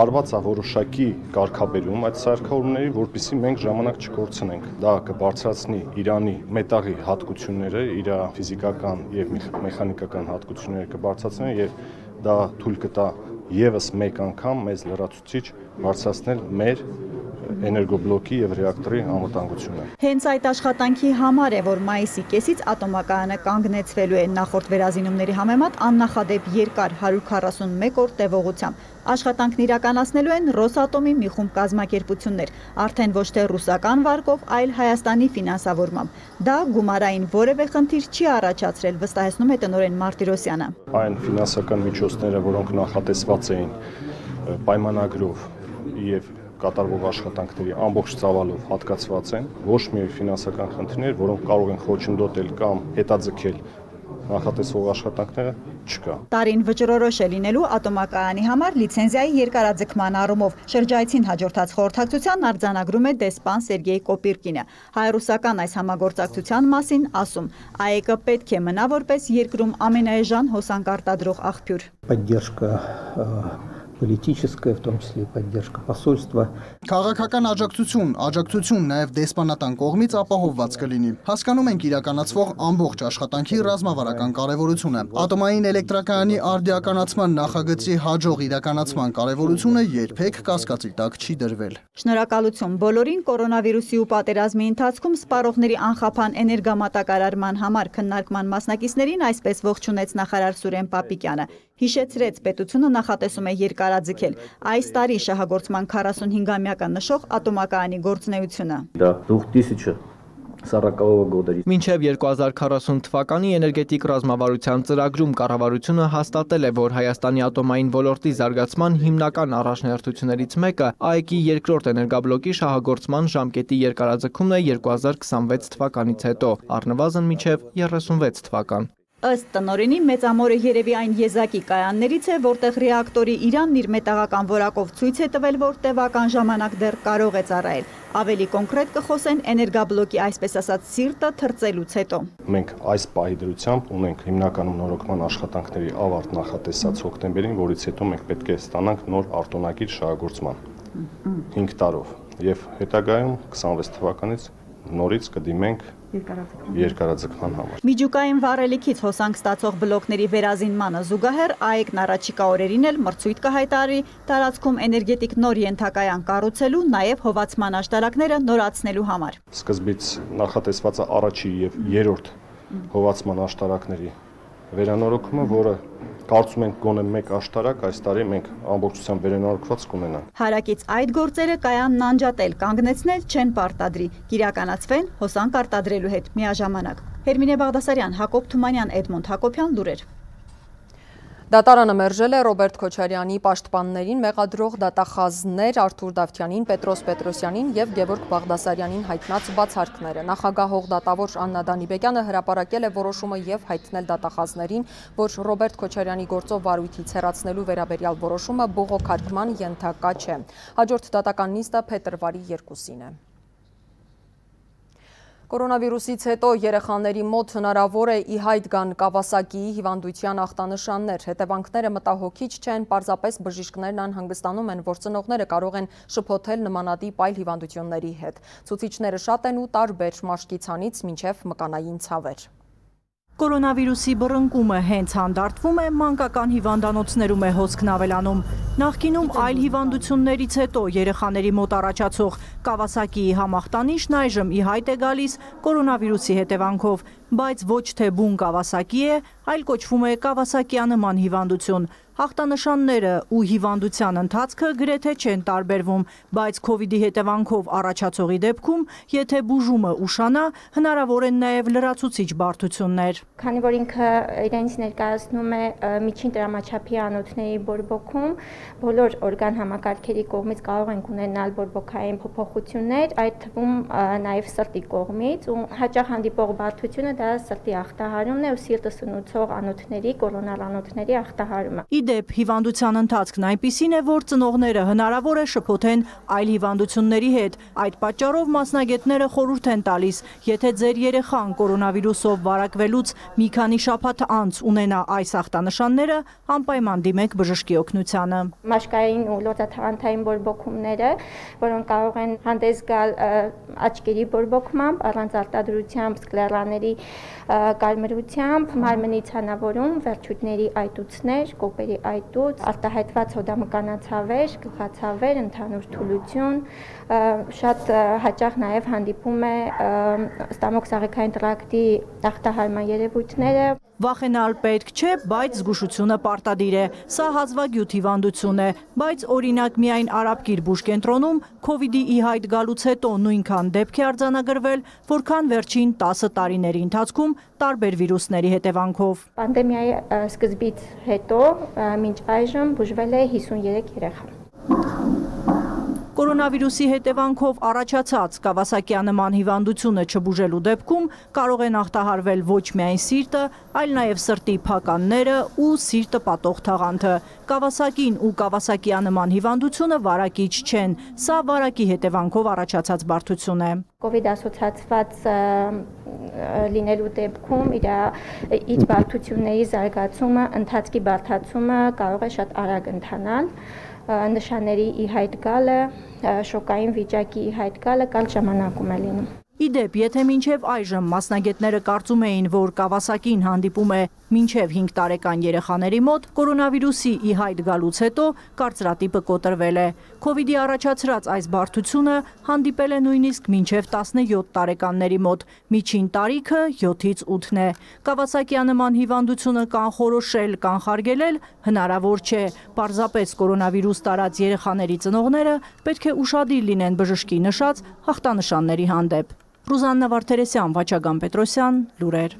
արված է որոշակի կարգաբերում այդ սարքավորումների, որպեսզի մենք ժամանակ չկորցնենք։ Դա կբարձրացնի Իրանի մետաղի հատկությունները, իր ֆիզիկական եւ մեխանիկական հատկությունները կբարձրացնեն եւ դա թույլ կտա եւս մեկ անգամ մեզ լրացուցիչ բարձրացնել մեր էներգոբլոկի եւ ռեակտորի անվտանգությունը։ Հենց այդ աշխատանքի համար է, որ մայիսի կեսից ատոմակայանը կանգնեցվելու է նախորդ վերազինումների համեմատ աննախադեպ երկար 141 օր տևողությամբ։ Աշխատանքն իրականացնելու են Ռոսատոմի մի խումբ կազմակերպություններ, արդեն ոչ թե ռուսական վարկով, այլ Հայաստանի ֆինանսավորմամբ։ Դա գումարային որևէ խնդիր չի առաջացրել, վստահեցնում է տնօրեն Մարտիրոսյանը։ Այն ֆինանսական միջոցները, որոնք նախատեսված էին պայմանագրով եւ կատարվող աշխատանքների ամբողջ ծավալով հատկացված են, ոչ մի ֆինանսական խնդիրներ, որոնք կարող են խոչընդոտել կամ հետաձգել նախատեսվող աշխատանքները չկա։ Տարին վճռորոշ է լինելու ատոմակայանի համար լիցենզիայի երկարաձգման առումով։ Շրջայցին հաջորդած խորհրդակցության արձանագրում է դեսպան Սերգեյ Կոպիրկինը։ Հայ-ռուսական այս համագործակցության մասին ասում, ԱԵԿ-ը պետք է մնա որպես երկրում ամենաէժան հոսանք արտադրող աղբյուր։ Политическая, в том числе и поддержка посольства. Քաղաքական աջակցություն նաև դեսպանատան կողմից ապահովված կլինի։ Հասկանում ենք իրականացվող ամբողջ աշխատանքի ռազմավարական կարևորությունը։ Ատոմային էլեկտրակայանի արդիականացման նախագծի հաջող իրականացման կարևորությունը երբեք կասկածի տակ չի դրվել։ Շնորհակալություն բոլորին կորոնավիրուսի ու պատերազմի ընթացքում սպառողների անխափան էներգամատակարարման համար քննարկման մասնակիցներին այսպես ողջունեց նախարար Սուրեն Պապիկյանը։ Հիշեցրեց, պետությունը նախատեսում է երկարաձգել այս տարի շահագործման 45-ամյակը նշող ատոմակայանի գործունեությունը։ Մինչև 2040 թվականի էներգետիկ ռազմավարության ծրագրում կառավարությունը հաստատել է, որ Հայաստանի ատոմային ոլորտի զարգացման հիմնական առաջնահերթություններից մեկը ԱԵԿ-ի երկրորդ էներգաբլոկի շահագործման ժամկետի երկարաձգումն է 2026 թվականից հետո, առնվազն մինչև 36 թվական։ Ըստ տնօրենի մեծամորը երևի այն եզակի կայաններից է, որտեղ ռեակտորի Իրանն իր մետաղական որակով ցույց է տվել, որ տևական ժամանակ դեռ կարող է ծառայել։ Ավելի կոնկրետ կխոսեն էներգաբլոկի այսպես ասած սիրտը թրծելուց հետո։ Մենք այս պահի դրությամբ ունենք հիմնականում նորոգման աշխատանքների ավարտ նախատեսած հոկտեմբերին, որից հետո մենք պետք է ստանանք նոր արտոնագիր շահագործման 5 տարով եւ հետագայում 26 թվականից նորից կդիմենք երկարաձգման համար։ Միջուկային վառելիքից հոսանք ստացող բլոկների վերազինմանը զուգահեռ ԱԵԿ-ն առաջիկա օրերին էլ մրցույթ կհայտարարի տարածքում էներգետիկ նոր ենթակայան կառուցելու, նաև հովացման աշտարակները նորացնելու համար։ Սկզբից նախատեսված է առաջի եւ երրորդ հովացման աշտարակների վերանորոգումը, որը կարծում ենք գոնե մեկ աշտարակ այս տարի մենք ամբողջությամբ վերանորոգված կունենանք։ Հարակից այդ գործերը կայանն անջատել, կանգնեցնել չեն պարտադրի, կիրականացվեն հոսանք արտադրելու հետ միաժամանակ։ Հերմինե Բաղդասարյան, Հակոբ Թումանյան, Էդմոնդ Հակոբյան, լուրեր։ Դատարանը մերժել է Ռոբերտ Քոչարյանի պաշտպաններին մեղադրող դատախազներ Արթուր Դավթյանին, Պետրոս Պետրոսյանին և Գևորգ Բաղդասարյանին հայտնած բացարկները։ Նախագահող դատավոր Աննա Դանիբեկյանը հրապարակել է որոշումը և հայտնել դատախազներին, որ Ռոբերտ Քոչարյանի գործով վարույթից հեռացնելու վերաբերյալ որոշումը բողոքարկման ենթակա չէ։ Հաջորդ դատական նիստը փետրվարի 2-ին է։ Կորոնավիրուսից հետո երեխաների մոտ հնարավոր է ի հայտ գան Կավասակիի հիվանդության ախտանշաններ։ Հետևանքները մտահոգիչ չեն, պարզապես բժիշկներն անհանգստանում են, որ ծնողները կարող են շփոթել նմանատիպ այլ հիվանդությունների հետ։ Ցուցիչները շատ են ու տարբեր մաշկի ցանից մինչև մկանային ցավեր։ Կորոնավիրուսի բռնկումը հենց հանդարտվում է, մանկական հիվանդանոցներում է հոսքն ավելանում։ Նախկինում այլ հիվանդություններից հետո երեխաների մոտ առաջացող Կավասակիի համախտանիշն այժմ ի հայտ է գալիս կորոնավիրուսի հետևանքով, բայց ոչ թե բուն Կավասակի է, այլ կոչվում է Կավասակյանման հիվանդություն։ Հաղթանշանները ու հիվանդության ընթացքը գրեթե չեն տարբերվում, բայց քովիդի հետևանքով առաջացողի դեպքում, եթե բուժումը ուշանա, հնարավոր են նաև լրացուցիչ բարդություններ։ Քանի որ ինքը իրենից ներկայացնում է միջին տրամաչափի անոթների բորբոքում, բոլոր օրգան համակարգերի կողմից կարող ենք ունենալ բորբոքային փոփոխություններ, այդ թվում նաև սրտի կողմից, ու հաճախ հանդիպող բարդությունը դա սրտի ախտահարումն է ու սիրտը սնուցում ունեցող անոթների, կորոնալ անոթների ախտահարումը։ Իդեպ հիվանդության ընթացքն այնպիսին է, որ ծնողները հնարավոր է շփոթեն այլ հիվանդությունների հետ։ Այդ պատճառով մասնագետները խորհուրդ են տալիս, եթե ձեր երեխան կորոնավիրուսով վարակվելուց մի քանի շաբաթ անց ունենա այս ախտանշանները, անպայման դիմեք բժշկի օգնությանը։ Մաշկային ու լորձաթաղանթային բորբոքումները, որոնք կարող են հանդես գալ աչքերի բորբոքմամբ, առանց արտադրությամբ, սկլերաների կարմրությամբ, մարմնի ցանավորում, վերջույթների այտուցներ, կոպերի այտուց, արտահայտված հոդամկանացավեր, գլխացավեր, ընդհանուր թուլություն, շատ հաճախ նաև հանդիպում է ստամոքսաղեքային տրակտի ախտահարման երևույթները։ Վախենալ պետք չէ, բայց զգուշությունը պարտադիր է։ Սա հազվագյուտ հիվանդություն է, բայց օրինակ միայն Արաբկիր բուժկենտրոնում քովիդի ի հայտ գալուց հետո նույնքան դեպք է արձանագրվել, որքան վերջին 10 տարիների ընթացքում տարբեր վիրուսների հետևանքով։ Պանդեմիայի սկզբից հետո մինչ այժմ բուժվել է 53 երեխա։ Կորոնավիրուսի հետևանքով առաջացած Կավասակյանման հիվանդությունը չբուժելու դեպքում կարող են ախտահարվել ոչ միայն սիրտը, այլ նաև սրտի փականները ու սիրտը պատող թաղանթը։ Կավասակին ու Կավասակյանման հիվանդությունը վարակիչ չեն, սա վարակի հետևանքով առաջացած բարդություն է։ Կովիդ ասոցացված լինելու դեպքում իր բարդությունների զարգացումը, ընթացքի բարդացումը կարող է շատ արագ ընթանալ, նշանների ի հայտ գալը, շոկային վիճակի ի հայտ գալը կարճ ժամանակում է լինում։ Իդեպ, եթե մինչև այժմ մասնագետները կարծում էին, որ Կավասակին հանդիպում է մինչև 5 տարեկան երեխաների մոտ, կորոնավիրուսի ի հայտ գալուց հետո կարծրատիպը կոտրվել է։ Քովիդի առաջացրած այս բարդությունը հանդիպել է նույնիսկ մինչև 17 տարեկանների մոտ, միջին տարիքը 7-ից 8-ն է։ Կավասակյանման հիվանդությունը կանխորոշել, կանխարգելել հնարավոր չէ, պարզապես կորոնավիրուս տարած երեխաների ծնողները պետք է ուշադիր լինեն բժշկի նշած հաղթանշանների հանդեպ։ Ռուզաննա Վարդերեսյան, Վաչագան Պետրոսյան, լուրեր։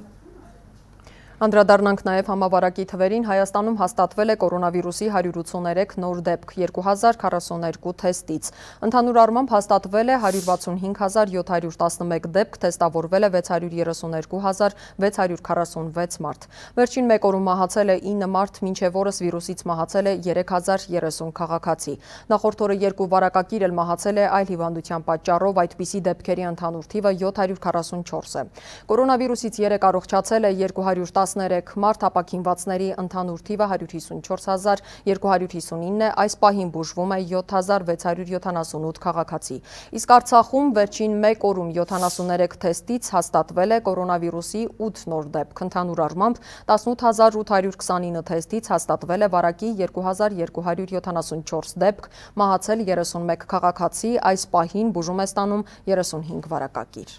Անդրադառնանք նաև համավարակի թվերին, Հայաստանում հաստատվել է կորոնավիրուսի 183 նոր դեպք 2042 թեստից։ Ընդհանուր առմամբ հաստատվել է 165711 դեպք, թեստավորվել է 632646 մարդ։ Վերջին մեկ օրում մահացել է 9 մարդ, մինչև օրս վիրուսից մահացել է 3030 քաղաքացի։ Նախորդ օրը 2 վարակագիր էլ մահացել է այլ հիվանդության պատճառով, այդպիսի դեպքերի ընդհանուր թիվը 744 է։ Կորոնավիրուսից 3 առողջացել է 213 մարդ, ապաքինվածների ընդհանուր թիվը 150259 է, այս պահին բուժվում է 7678 քաղաքացի։ Իսկ Արցախում վերջին մեկ օրում 73 թեստից հաստատվել է կորոնավիրուսի 8 նոր դեպք, ընդհանուր առմամբ 18829 թեստից հաստատվել է վարակի 2274 դեպք, մահացել 31 քաղաքացի, այս պահին բուժում է ստանում 35 վարակագիր։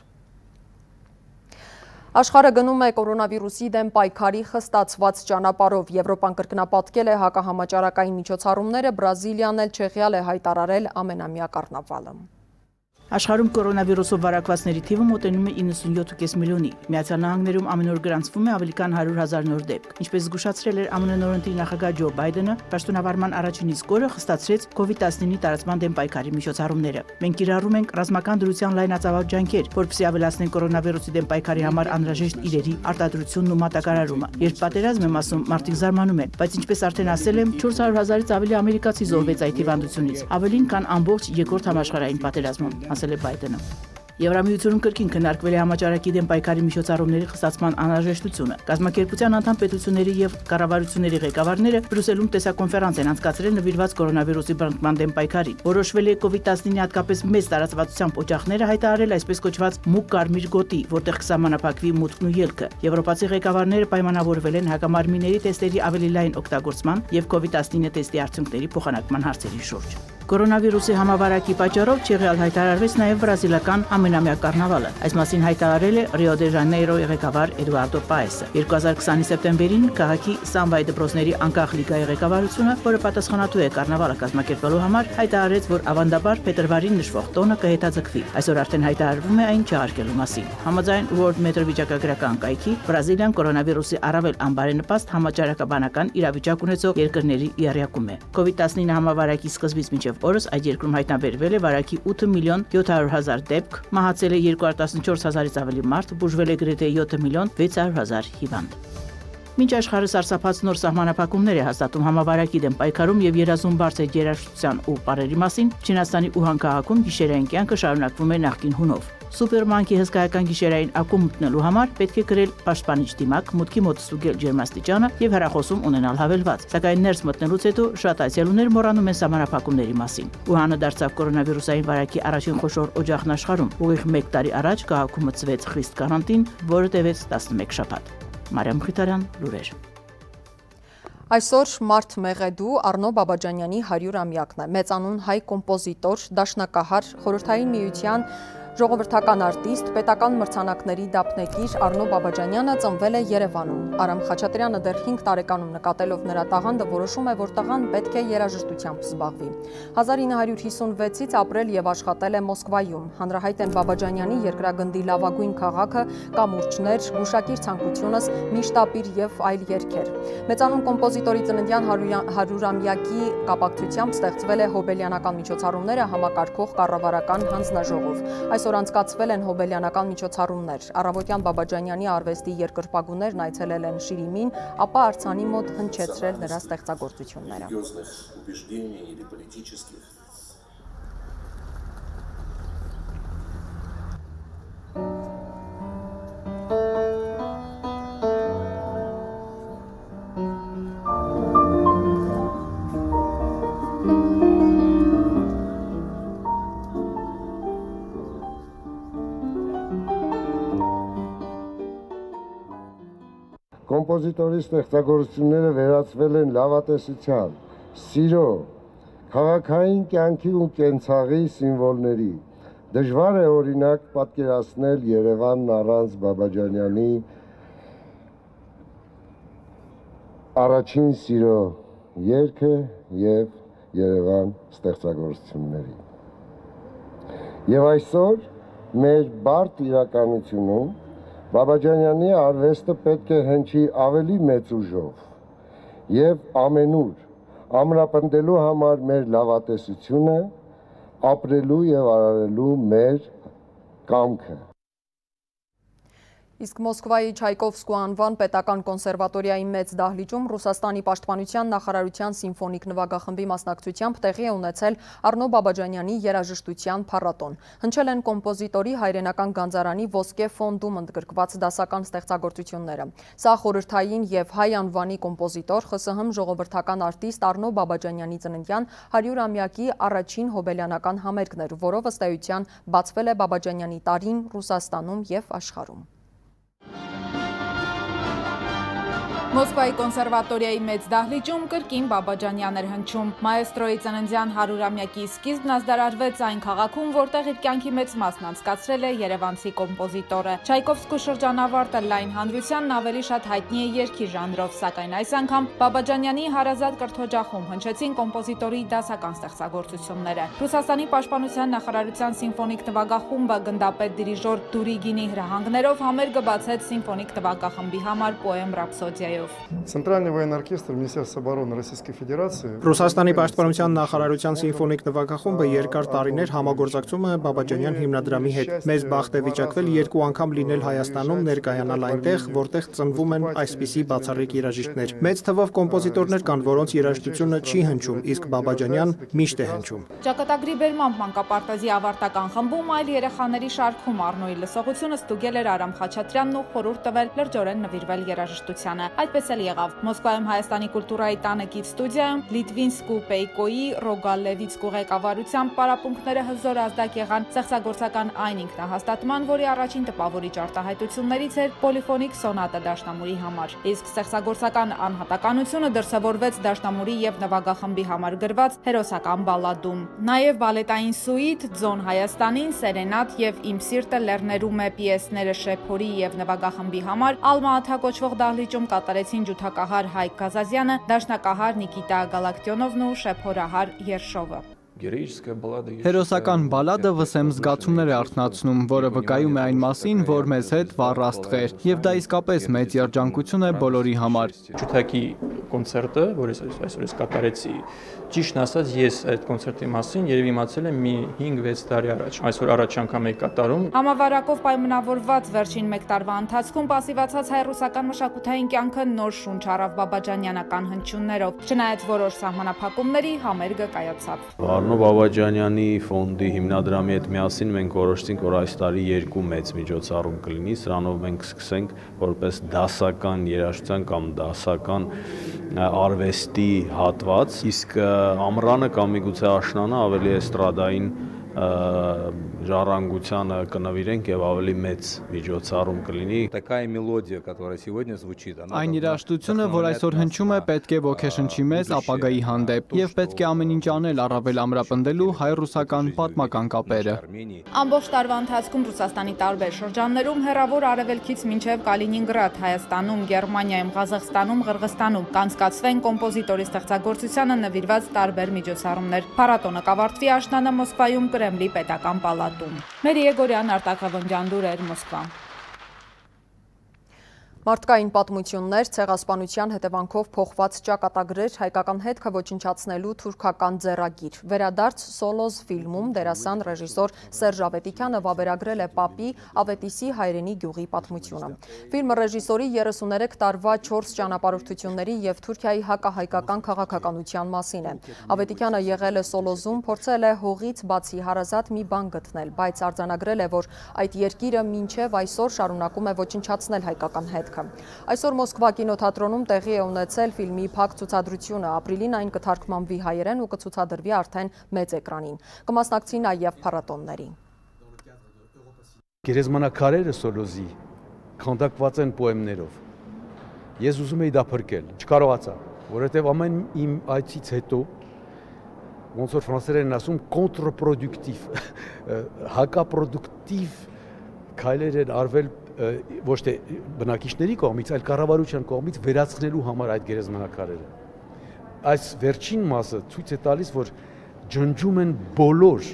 Աշխարհը գնում է կորոնավիրուսի դեմ պայքարի խստացված ճանապարհով։ Եվրոպան կրկնապատկել է հակահամաճարակային միջոցառումները, Բրազիլիան էլ Չեխիան է հայտարարել ամենամյա կառնավալը։ Աշխարհում կորոնավիրուսով վարակվածների թիվը մոտենում է 97.5 միլիոնի։ Միացյալ Նահանգներում ամեն օր գրանցվում է ավելի քան 100,000 նոր դեպք։ Ինչպես զգուշացրել էր ԱՄՆ նորընտիր նախագահ Ջո Բայդենը, պաշտոնավարման առաջին իսկ օրը խստացրեց COVID-19-ի տարածման դեմ պայքարի միջոցառումները։ Մենք կիրառում ենք ռազմական դրության լայնածավալ ջանքեր, որպեսզի ավելացնենք կորոնավիրուսի դեմ պայքարի համար անհրաժեշտ իրերի արտադրությունն ու մատակարարումը։ Երբ պատերազմ եմ ասում, մարդիկ զարմանում են, բայց ինչպես արդեն ասել եմ, 400,000-ից ավելի ամերիկացի զոհվեց այդ հիվանդությունից, ավելին քան ամբողջ երկրորդ համաշխարհային պատերազմում, ասել է Բայդենը։ Եվրամիությունում կրկին քննարկվել է համաճարակի դեմ պայքարի միջոցառումների խստացման անհրաժեշտությունը։ Կազմակերպության անդամ պետությունների եւ կառավարությունների ղեկավարները Բրյուսելում տեսակոնֆերանս են անցկացրել նվիրված կորոնավիրուսի բռնկման դեմ պայքարին։ Որոշվել է COVID-19-ի հատկապես մեծ տարածվածությամբ օջախները հայտարարել այսպես կոչված մուգ կարմիր գոտի, որտեղ կսահմանափակվի մուտքն ու ելքը։ Եվրոպացի ղեկավարները պայմանավորվել են հակամարմինների տեստերի ավելի լայն օգտագործման եւ COVID-19 տեստի արդյունքների փոխանակման հարցերի շուրջ։ Կորոնավիրուսի համավարակի պատճառով Չեխիան հայտարարվեց նաև բրազիլական ամենամյա կառնավալը։ Այս մասին հայտարարել է Ռիո դե Ժանեյրոյի ղեկավար Էդուարդո Պայեսը։ 2020-ի սեպտեմբերին քաղաքի Սամբայ դպրոցների անկախ լիգայի ղեկավարությունը, որը պատասխանատու է կառնավալը կազմակերպելու համար, հայտարարեց, որ ավանդաբար փետրվարին նշվող տոնը կհետաձգվի։ Այսօր արդեն հայտարարվում է այն չհարկելու մասին։ Համաձայն World Metro վիճակագրական կայքի, Բրազիլիան կորոնավիրուսի առավել անբարենպաստ համաճարակաբանական իրավիճակ ունեցող երկրների իերիակում է։ COVID-19 համավարակի սկզբից մինչև օրս այդ երկրում հայտնաբերվել է վարակի 8.700.000 դեպք, մահացել է 214,000-ից ավելի մարդ, բուժվել է գրեթե 7.600.000 հիվանդ։ Մինչ աշխարհը սարսափած նոր սահմանափակումներ է հաստատում համավարակի դեմ պայքարում եւ երազում բարձր երաժշտության ու պարերի մասին, Չինաստանի Ուհան քաղաքում գիշերային կյանքը շարունակվում է նախկին հունով։ Սուպերմանկի հսկայական գիշերային ակումբ մտնելու համար պետք է գրել պաշտպանիչ դիմակ, մուտքի մոտ ստուգել ջերմաստիճանը եւ հեռախոսում ունենալ հավելված։ Սակայն ներս մտնելուց հետո շատ այցելուներ մոռանում են սահմանափակումների մասին։ Ուհանը դարձավ կորոնավիրուսային վարակի առաջին խոշոր օջախն աշխարհում։ Ուղիղ 1 տարի առաջ քաղաքում մտցվեց խիստ կարանտին, որը տևեց 11 շաբաթ։ Մարիամ Խիթարյան, լուրեր։ Այսօր Մարդ Մեղեդու Արնո Բաբաջանյանի 100-ամյակն է։ Մեծանուն հայ կոմպոզիտոր, դաշնակահար, Խորհրդային Միության ժողովրդական արտիստ, պետական մրցանակների դափնեկիր Արնո Բաբաջանյանը ծնվել է Երևանում։ Արամ Խաչատրյանը դեռ 5 տարեկանում նկատելով նրա տաղանդը որոշում է, որ տղան պետք է երաժշտությամբ զբաղվի։ 1956-ից ապրել եւ աշխատել է Մոսկվայում։ Հանրահայտ են Բաբաջանյանի երկրագնդի լավագույն քաղաքը, կամուրջներ, գուշակիր ցանկությունս, միշտ ապիր եւ այլ երգեր։ Մեծանուն կոմպոզիտորի ծննդյան 100-ամյակի կապակցությամբ ստեղծվել է հոբելյանական միջոցառումները համակարգող կառավարական հանձնաժողով։ Այսօր անցկացվել են հոբելյանական միջոցառումներ։ Առավոտյան Բաբաջանյանի արվեստի երկրպագուներն այցելել են Շիրիմին, ապա արձանի մոտ հնչեցրել նրա ստեղծագործությունները։ Կոմպոզիտորի ստեղծագործությունները վերածվել են լավատեսության, սիրո, քաղաքային կյանքի ու կենցաղի սիմվոլների։ Դժվար է օրինակ պատկերացնել Երևանն առանց Բաբաջանյանի առաջին սիրո երգը եւ Երևան ստեղծագործությունների։ Եվ այսօր մեր բարդ իրականությունում Բաբաջանյանի արվեստը պետք է հնչի ավելի մեծ ուժով եւ ամենուր ամրապնդելու համար մեր լավատեսությունը, ապրելու եւ արարելու մեր կամքը։ Իսկ Մոսկվայի Չայկովսկու անվան պետական կոնսերվատորիայի մեծ դահլիճում Ռուսաստանի պաշտպանության նախարարության սիմֆոնիկ նվագախմբի մասնակցությամբ տեղի է ունեցել Արնո Բաբաջանյանի երաժշտության փառատոն։ Հնչել են կոմպոզիտորի հայրենական գանձարանի ոսկե ֆոնդում ընդգրկված դասական ստեղծագործությունները։ Սա խորհրդային եւ հայ անվանի կոմպոզիտոր ԽՍՀՄ ժողովրդական արտիստ Արնո Բաբաջանյանի ծննդյան 100-ամյակի առաջին հոբելյանական համերգն էր, որով ըստ էության բացվել է Բաբաջանյանի տարին Ռուսաստանում եւ աշխարհում։ Մոսկվայի կոնսերվատորիայի մեծ դահլիճում կրկին Բաբաջանյան էր հնչում։ Մաեստրոյի ծննդյան 100-ամյակի սկիզբն ազդարարվեց այն քաղաքում, որտեղ իր կյանքի մեծ մասն անցկացրել է երևանցի կոմպոզիտորը։ Չայկովսկու շրջանավարտը լայն հանրությանն ավելի շատ հայտնի է երգի ժանրով, սակայն այս անգամ Բաբաջանյանի հարազատ կրթօջախում հնչեցին կոմպոզիտորի դասական ստեղծագործությունները։ Ռուսաստանի պաշտպանության նախարարության սիմֆոնիկ նվագախումբը գնդապետ դիրիժոր Դուրիգինի հրահանգներով համերգը բացեց սիմֆոնիկ նվագախմբի համար պոեմ ռապսոդիայով։ Центральный военный оркестр Министерства обороны Российской Федерации Ռուսաստանի պաշտպանության նախարարության սիմֆոնիկ նվագախումբը երկար տարիներ համագործակցում է Բաբաջանյան հիմնադրամի հետ։ Մեծ բախտ է վիճակվել 2 անգամ լինել Հայաստանում, ներկայանալ այնտեղ, որտեղ ծնվում են այսպիսի բացառիկ երաժիշտներ։ Մեծ թվով կոմպոզիտորներ կան, որոնց երաժշտությունը չի հնչում, իսկ Բաբաջանյան միշտ է հնչում։ Ճակատագրի բերմամբ մանկապարտեզի ավարտական խմբում այլ երեխաների շարքում Արնոյի լսողությունը ստուգել էր Արամ Խաչատրյանն ու խորհուրդ տվել լրջորեն նվիրվել երաժշտությանը։ Այդպես էլ եղավ։ Մոսկվայում Հայաստանի կուլտուրայի տանեկից ստուդիայում Լիտվինսկու Պեյկոյի Ռոգալևիցկու ղեկավարությամբ պարապմունքները հզոր ազդակ եղան ստեղծագործական այն ինքնահաստատման, որի առաջին տպավորիչ արտահայտություններից էր պոլիֆոնիկ սոնատը դաշնամուրի համար։ Իսկ ստեղծագործական անհատականությունը դրսևորվեց դաշնամուրի եւ նվագախմբի համար գրված հերոսական բալադում։ Նաեւ բալետային սուիտ, Ձոն Հայաստանին, Սերենատ եւ Իմ սիրտը լեռներում է պիեսները Շեփորի եւ նվագախմբի համար Ալմա-Աթա կոչվող դահլիճում կատարեցին ջութակահար Հայկ Գազազյանը, դաշնակահար Նիկիտա Գալակտյոնովն ու շեփորահար Երշովը։ Հերոսական բալադը վսեմ զգացումներ է արթնացնում, որը վկայում է այն մասին, որ մեզ հետ վառ աստղեր, եւ դա իսկապես մեծ երջանկություն է բոլորի համար։ կոնցերտը, որ այսօր ես կատարեցի, ճիշտն ասած ես այդ կոնցերտի մասին երևի իմացել եմ մի 5-6 տարի առաջ, այսօր առաջ անգամ էի կատարում։ Համավարակով պայմանավորված վերջին 1 տարվա ընթացքում պասիվացած հայ-ռուսական մշակութային կյանքը նոր շունչ առավ Բաբաջանյանական հնչյուններով, չնայած որոշ սահմանափակումների համերգը կայացավ։ Արնո Բաբաջանյանի ֆոնդի հիմնադրամի հետ միասին մենք որոշեցինք, որ այս տարի 2 մեծ միջոցառում կլինի, սրանով մենք սկսենք որպես դասական երաժշտության կամ դասական արվեստի հատված, իսկ ամռանը կամ միգուցե աշնանը ավելի էստրադային ժառանգությանը կնվիրենք եւ ավելի մեծ միջոցառում կլինի։ Այն երաժշտությունը, որ այսօր հնչում է, պետք է ոգեշնչի մեզ ապագայի հանդեպ եւ պետք է ամեն ինչ անել առավել ամրապնդելու հայ-ռուսական պատմական կապերը։ Ամբողջ տարվա ընթացքում Ռուսաստանի տարբեր շրջաններում հեռավոր արևելքից մինչև Կալինինգրադ, Հայաստանում, Գերմանիայում, Ղազախստանում, Ղրղստանում կանցկացվեն կոմպոզիտորի ստեղծագործությանը նվիրված տարբեր միջոցառումներ։ Փառատոնը կավարտվի աշնանը Մոսկվայում Կրեմլի պետական պալատում։ Մերի Եգորյան, Արտակ Ավանդյան, լուրեր, Մոսկվա։ Մարդկային պատմություններ, ցեղասպանության հետևանքով փոխված ճակատագրեր, հայկական հետքը ոչնչացնելու թուրքական ձեռագիր։ Վերադարձ Սոլոզ ֆիլմում դերասան ռեժիսոր Սերժ Ավետիքյանը վավերագրել է Պապի Ավետիսի հայրենի գյուղի պատմությունը։ Ֆիլմը ռեժիսորի 33 տարվա 4 ճանապարհորդությունների եւ Թուրքիայի հակահայկական քաղաքականության մասին է։ Ավետիքյանը եղել է Սոլոզում, փորձել է հողից բացի հարազատ մի բան գտնել, բայց արձանագրել է, որ այդ երկիրը մինչև այսօր շարունակում է ոչնչացնել հայկական հետքը։ Այսօր Մոսկվա կինոթատրոնում տեղի է ունեցել ֆիլմի փակ ցուցադրությունը, ապրիլին այն կթարգմանվի հայերեն ու կցուցադրվի արդեն մեծ էկրանին։ Կմասնակցի նաև փառատոններին։ Գերեզմանակարերը Սոլոզի քանդակված են պոեմներով։ Ես ուզում էի դա փրկել, չկարողացա, որովհետև ամեն իմ այցից հետո ոնց որ ֆրանսերեն ասում կոնտրպրոդուկտիվ, հակապրոդուկտիվ քայլեր են արվել ոչ թե բնակիչների կողմից, այլ կառավարության կողմից վերացնելու համար այդ գերեզմանակարերը։ Այս վերջին մասը ցույց է տալիս, որ ջնջում են բոլոր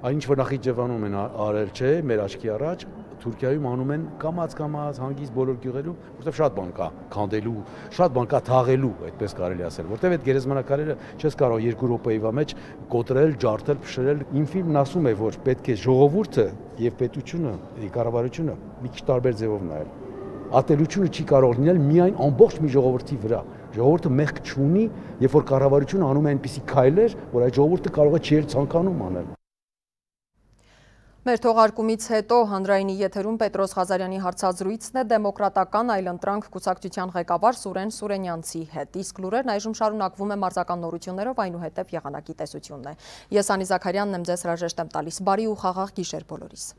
այն ինչ որ Նախիջևանում են արել, չէ, մեր աչքի առաջ, Թուրքիայում անում են կամած հանգիստ բոլոր գյուղերում, որտեղ շատ բան կա քանդելու, շատ բան կա թաղելու, այդպես կարելի ասել, որտեղ այդ գերեզմանակարերը չես կարող 2 րոպեի մեջ կոտրել, ջարդել, փշրել։ Իմ ֆիլմն ասում է, որ պետք է ժողովուրդը եւ պետությունը, կառավարությունը մի քիչ տարբեր ձևով նայել։ Ատելությունը չի կարող լինել միայն ամբողջ մի ժողովրդի վրա։ Ժողովուրդը մեղք չունի, երբ որ կառավարությունը անում է այնպիսի քայլեր, որ այդ ժողովուրդը կարող է չի ցանկանում անել։ Մեր թողարկումից հետո հանրայինի եթերում Պետրոս Ղազարյանի հարցազրույցն է դեմոկրատական այլընտրանք կուսակցության ղեկավար Սուրեն Սուրենյանցի հետ։ Իսկ լուրերն այժմ շարունակվում է մարզական նորություններով, այնուհետև եղանակի տեսությունն է։ Ես Անի Զաքարյանն եմ, ձեզ հրաժեշտ եմ տալիս։ Բարի ու խաղաղ գիշեր բոլորիս։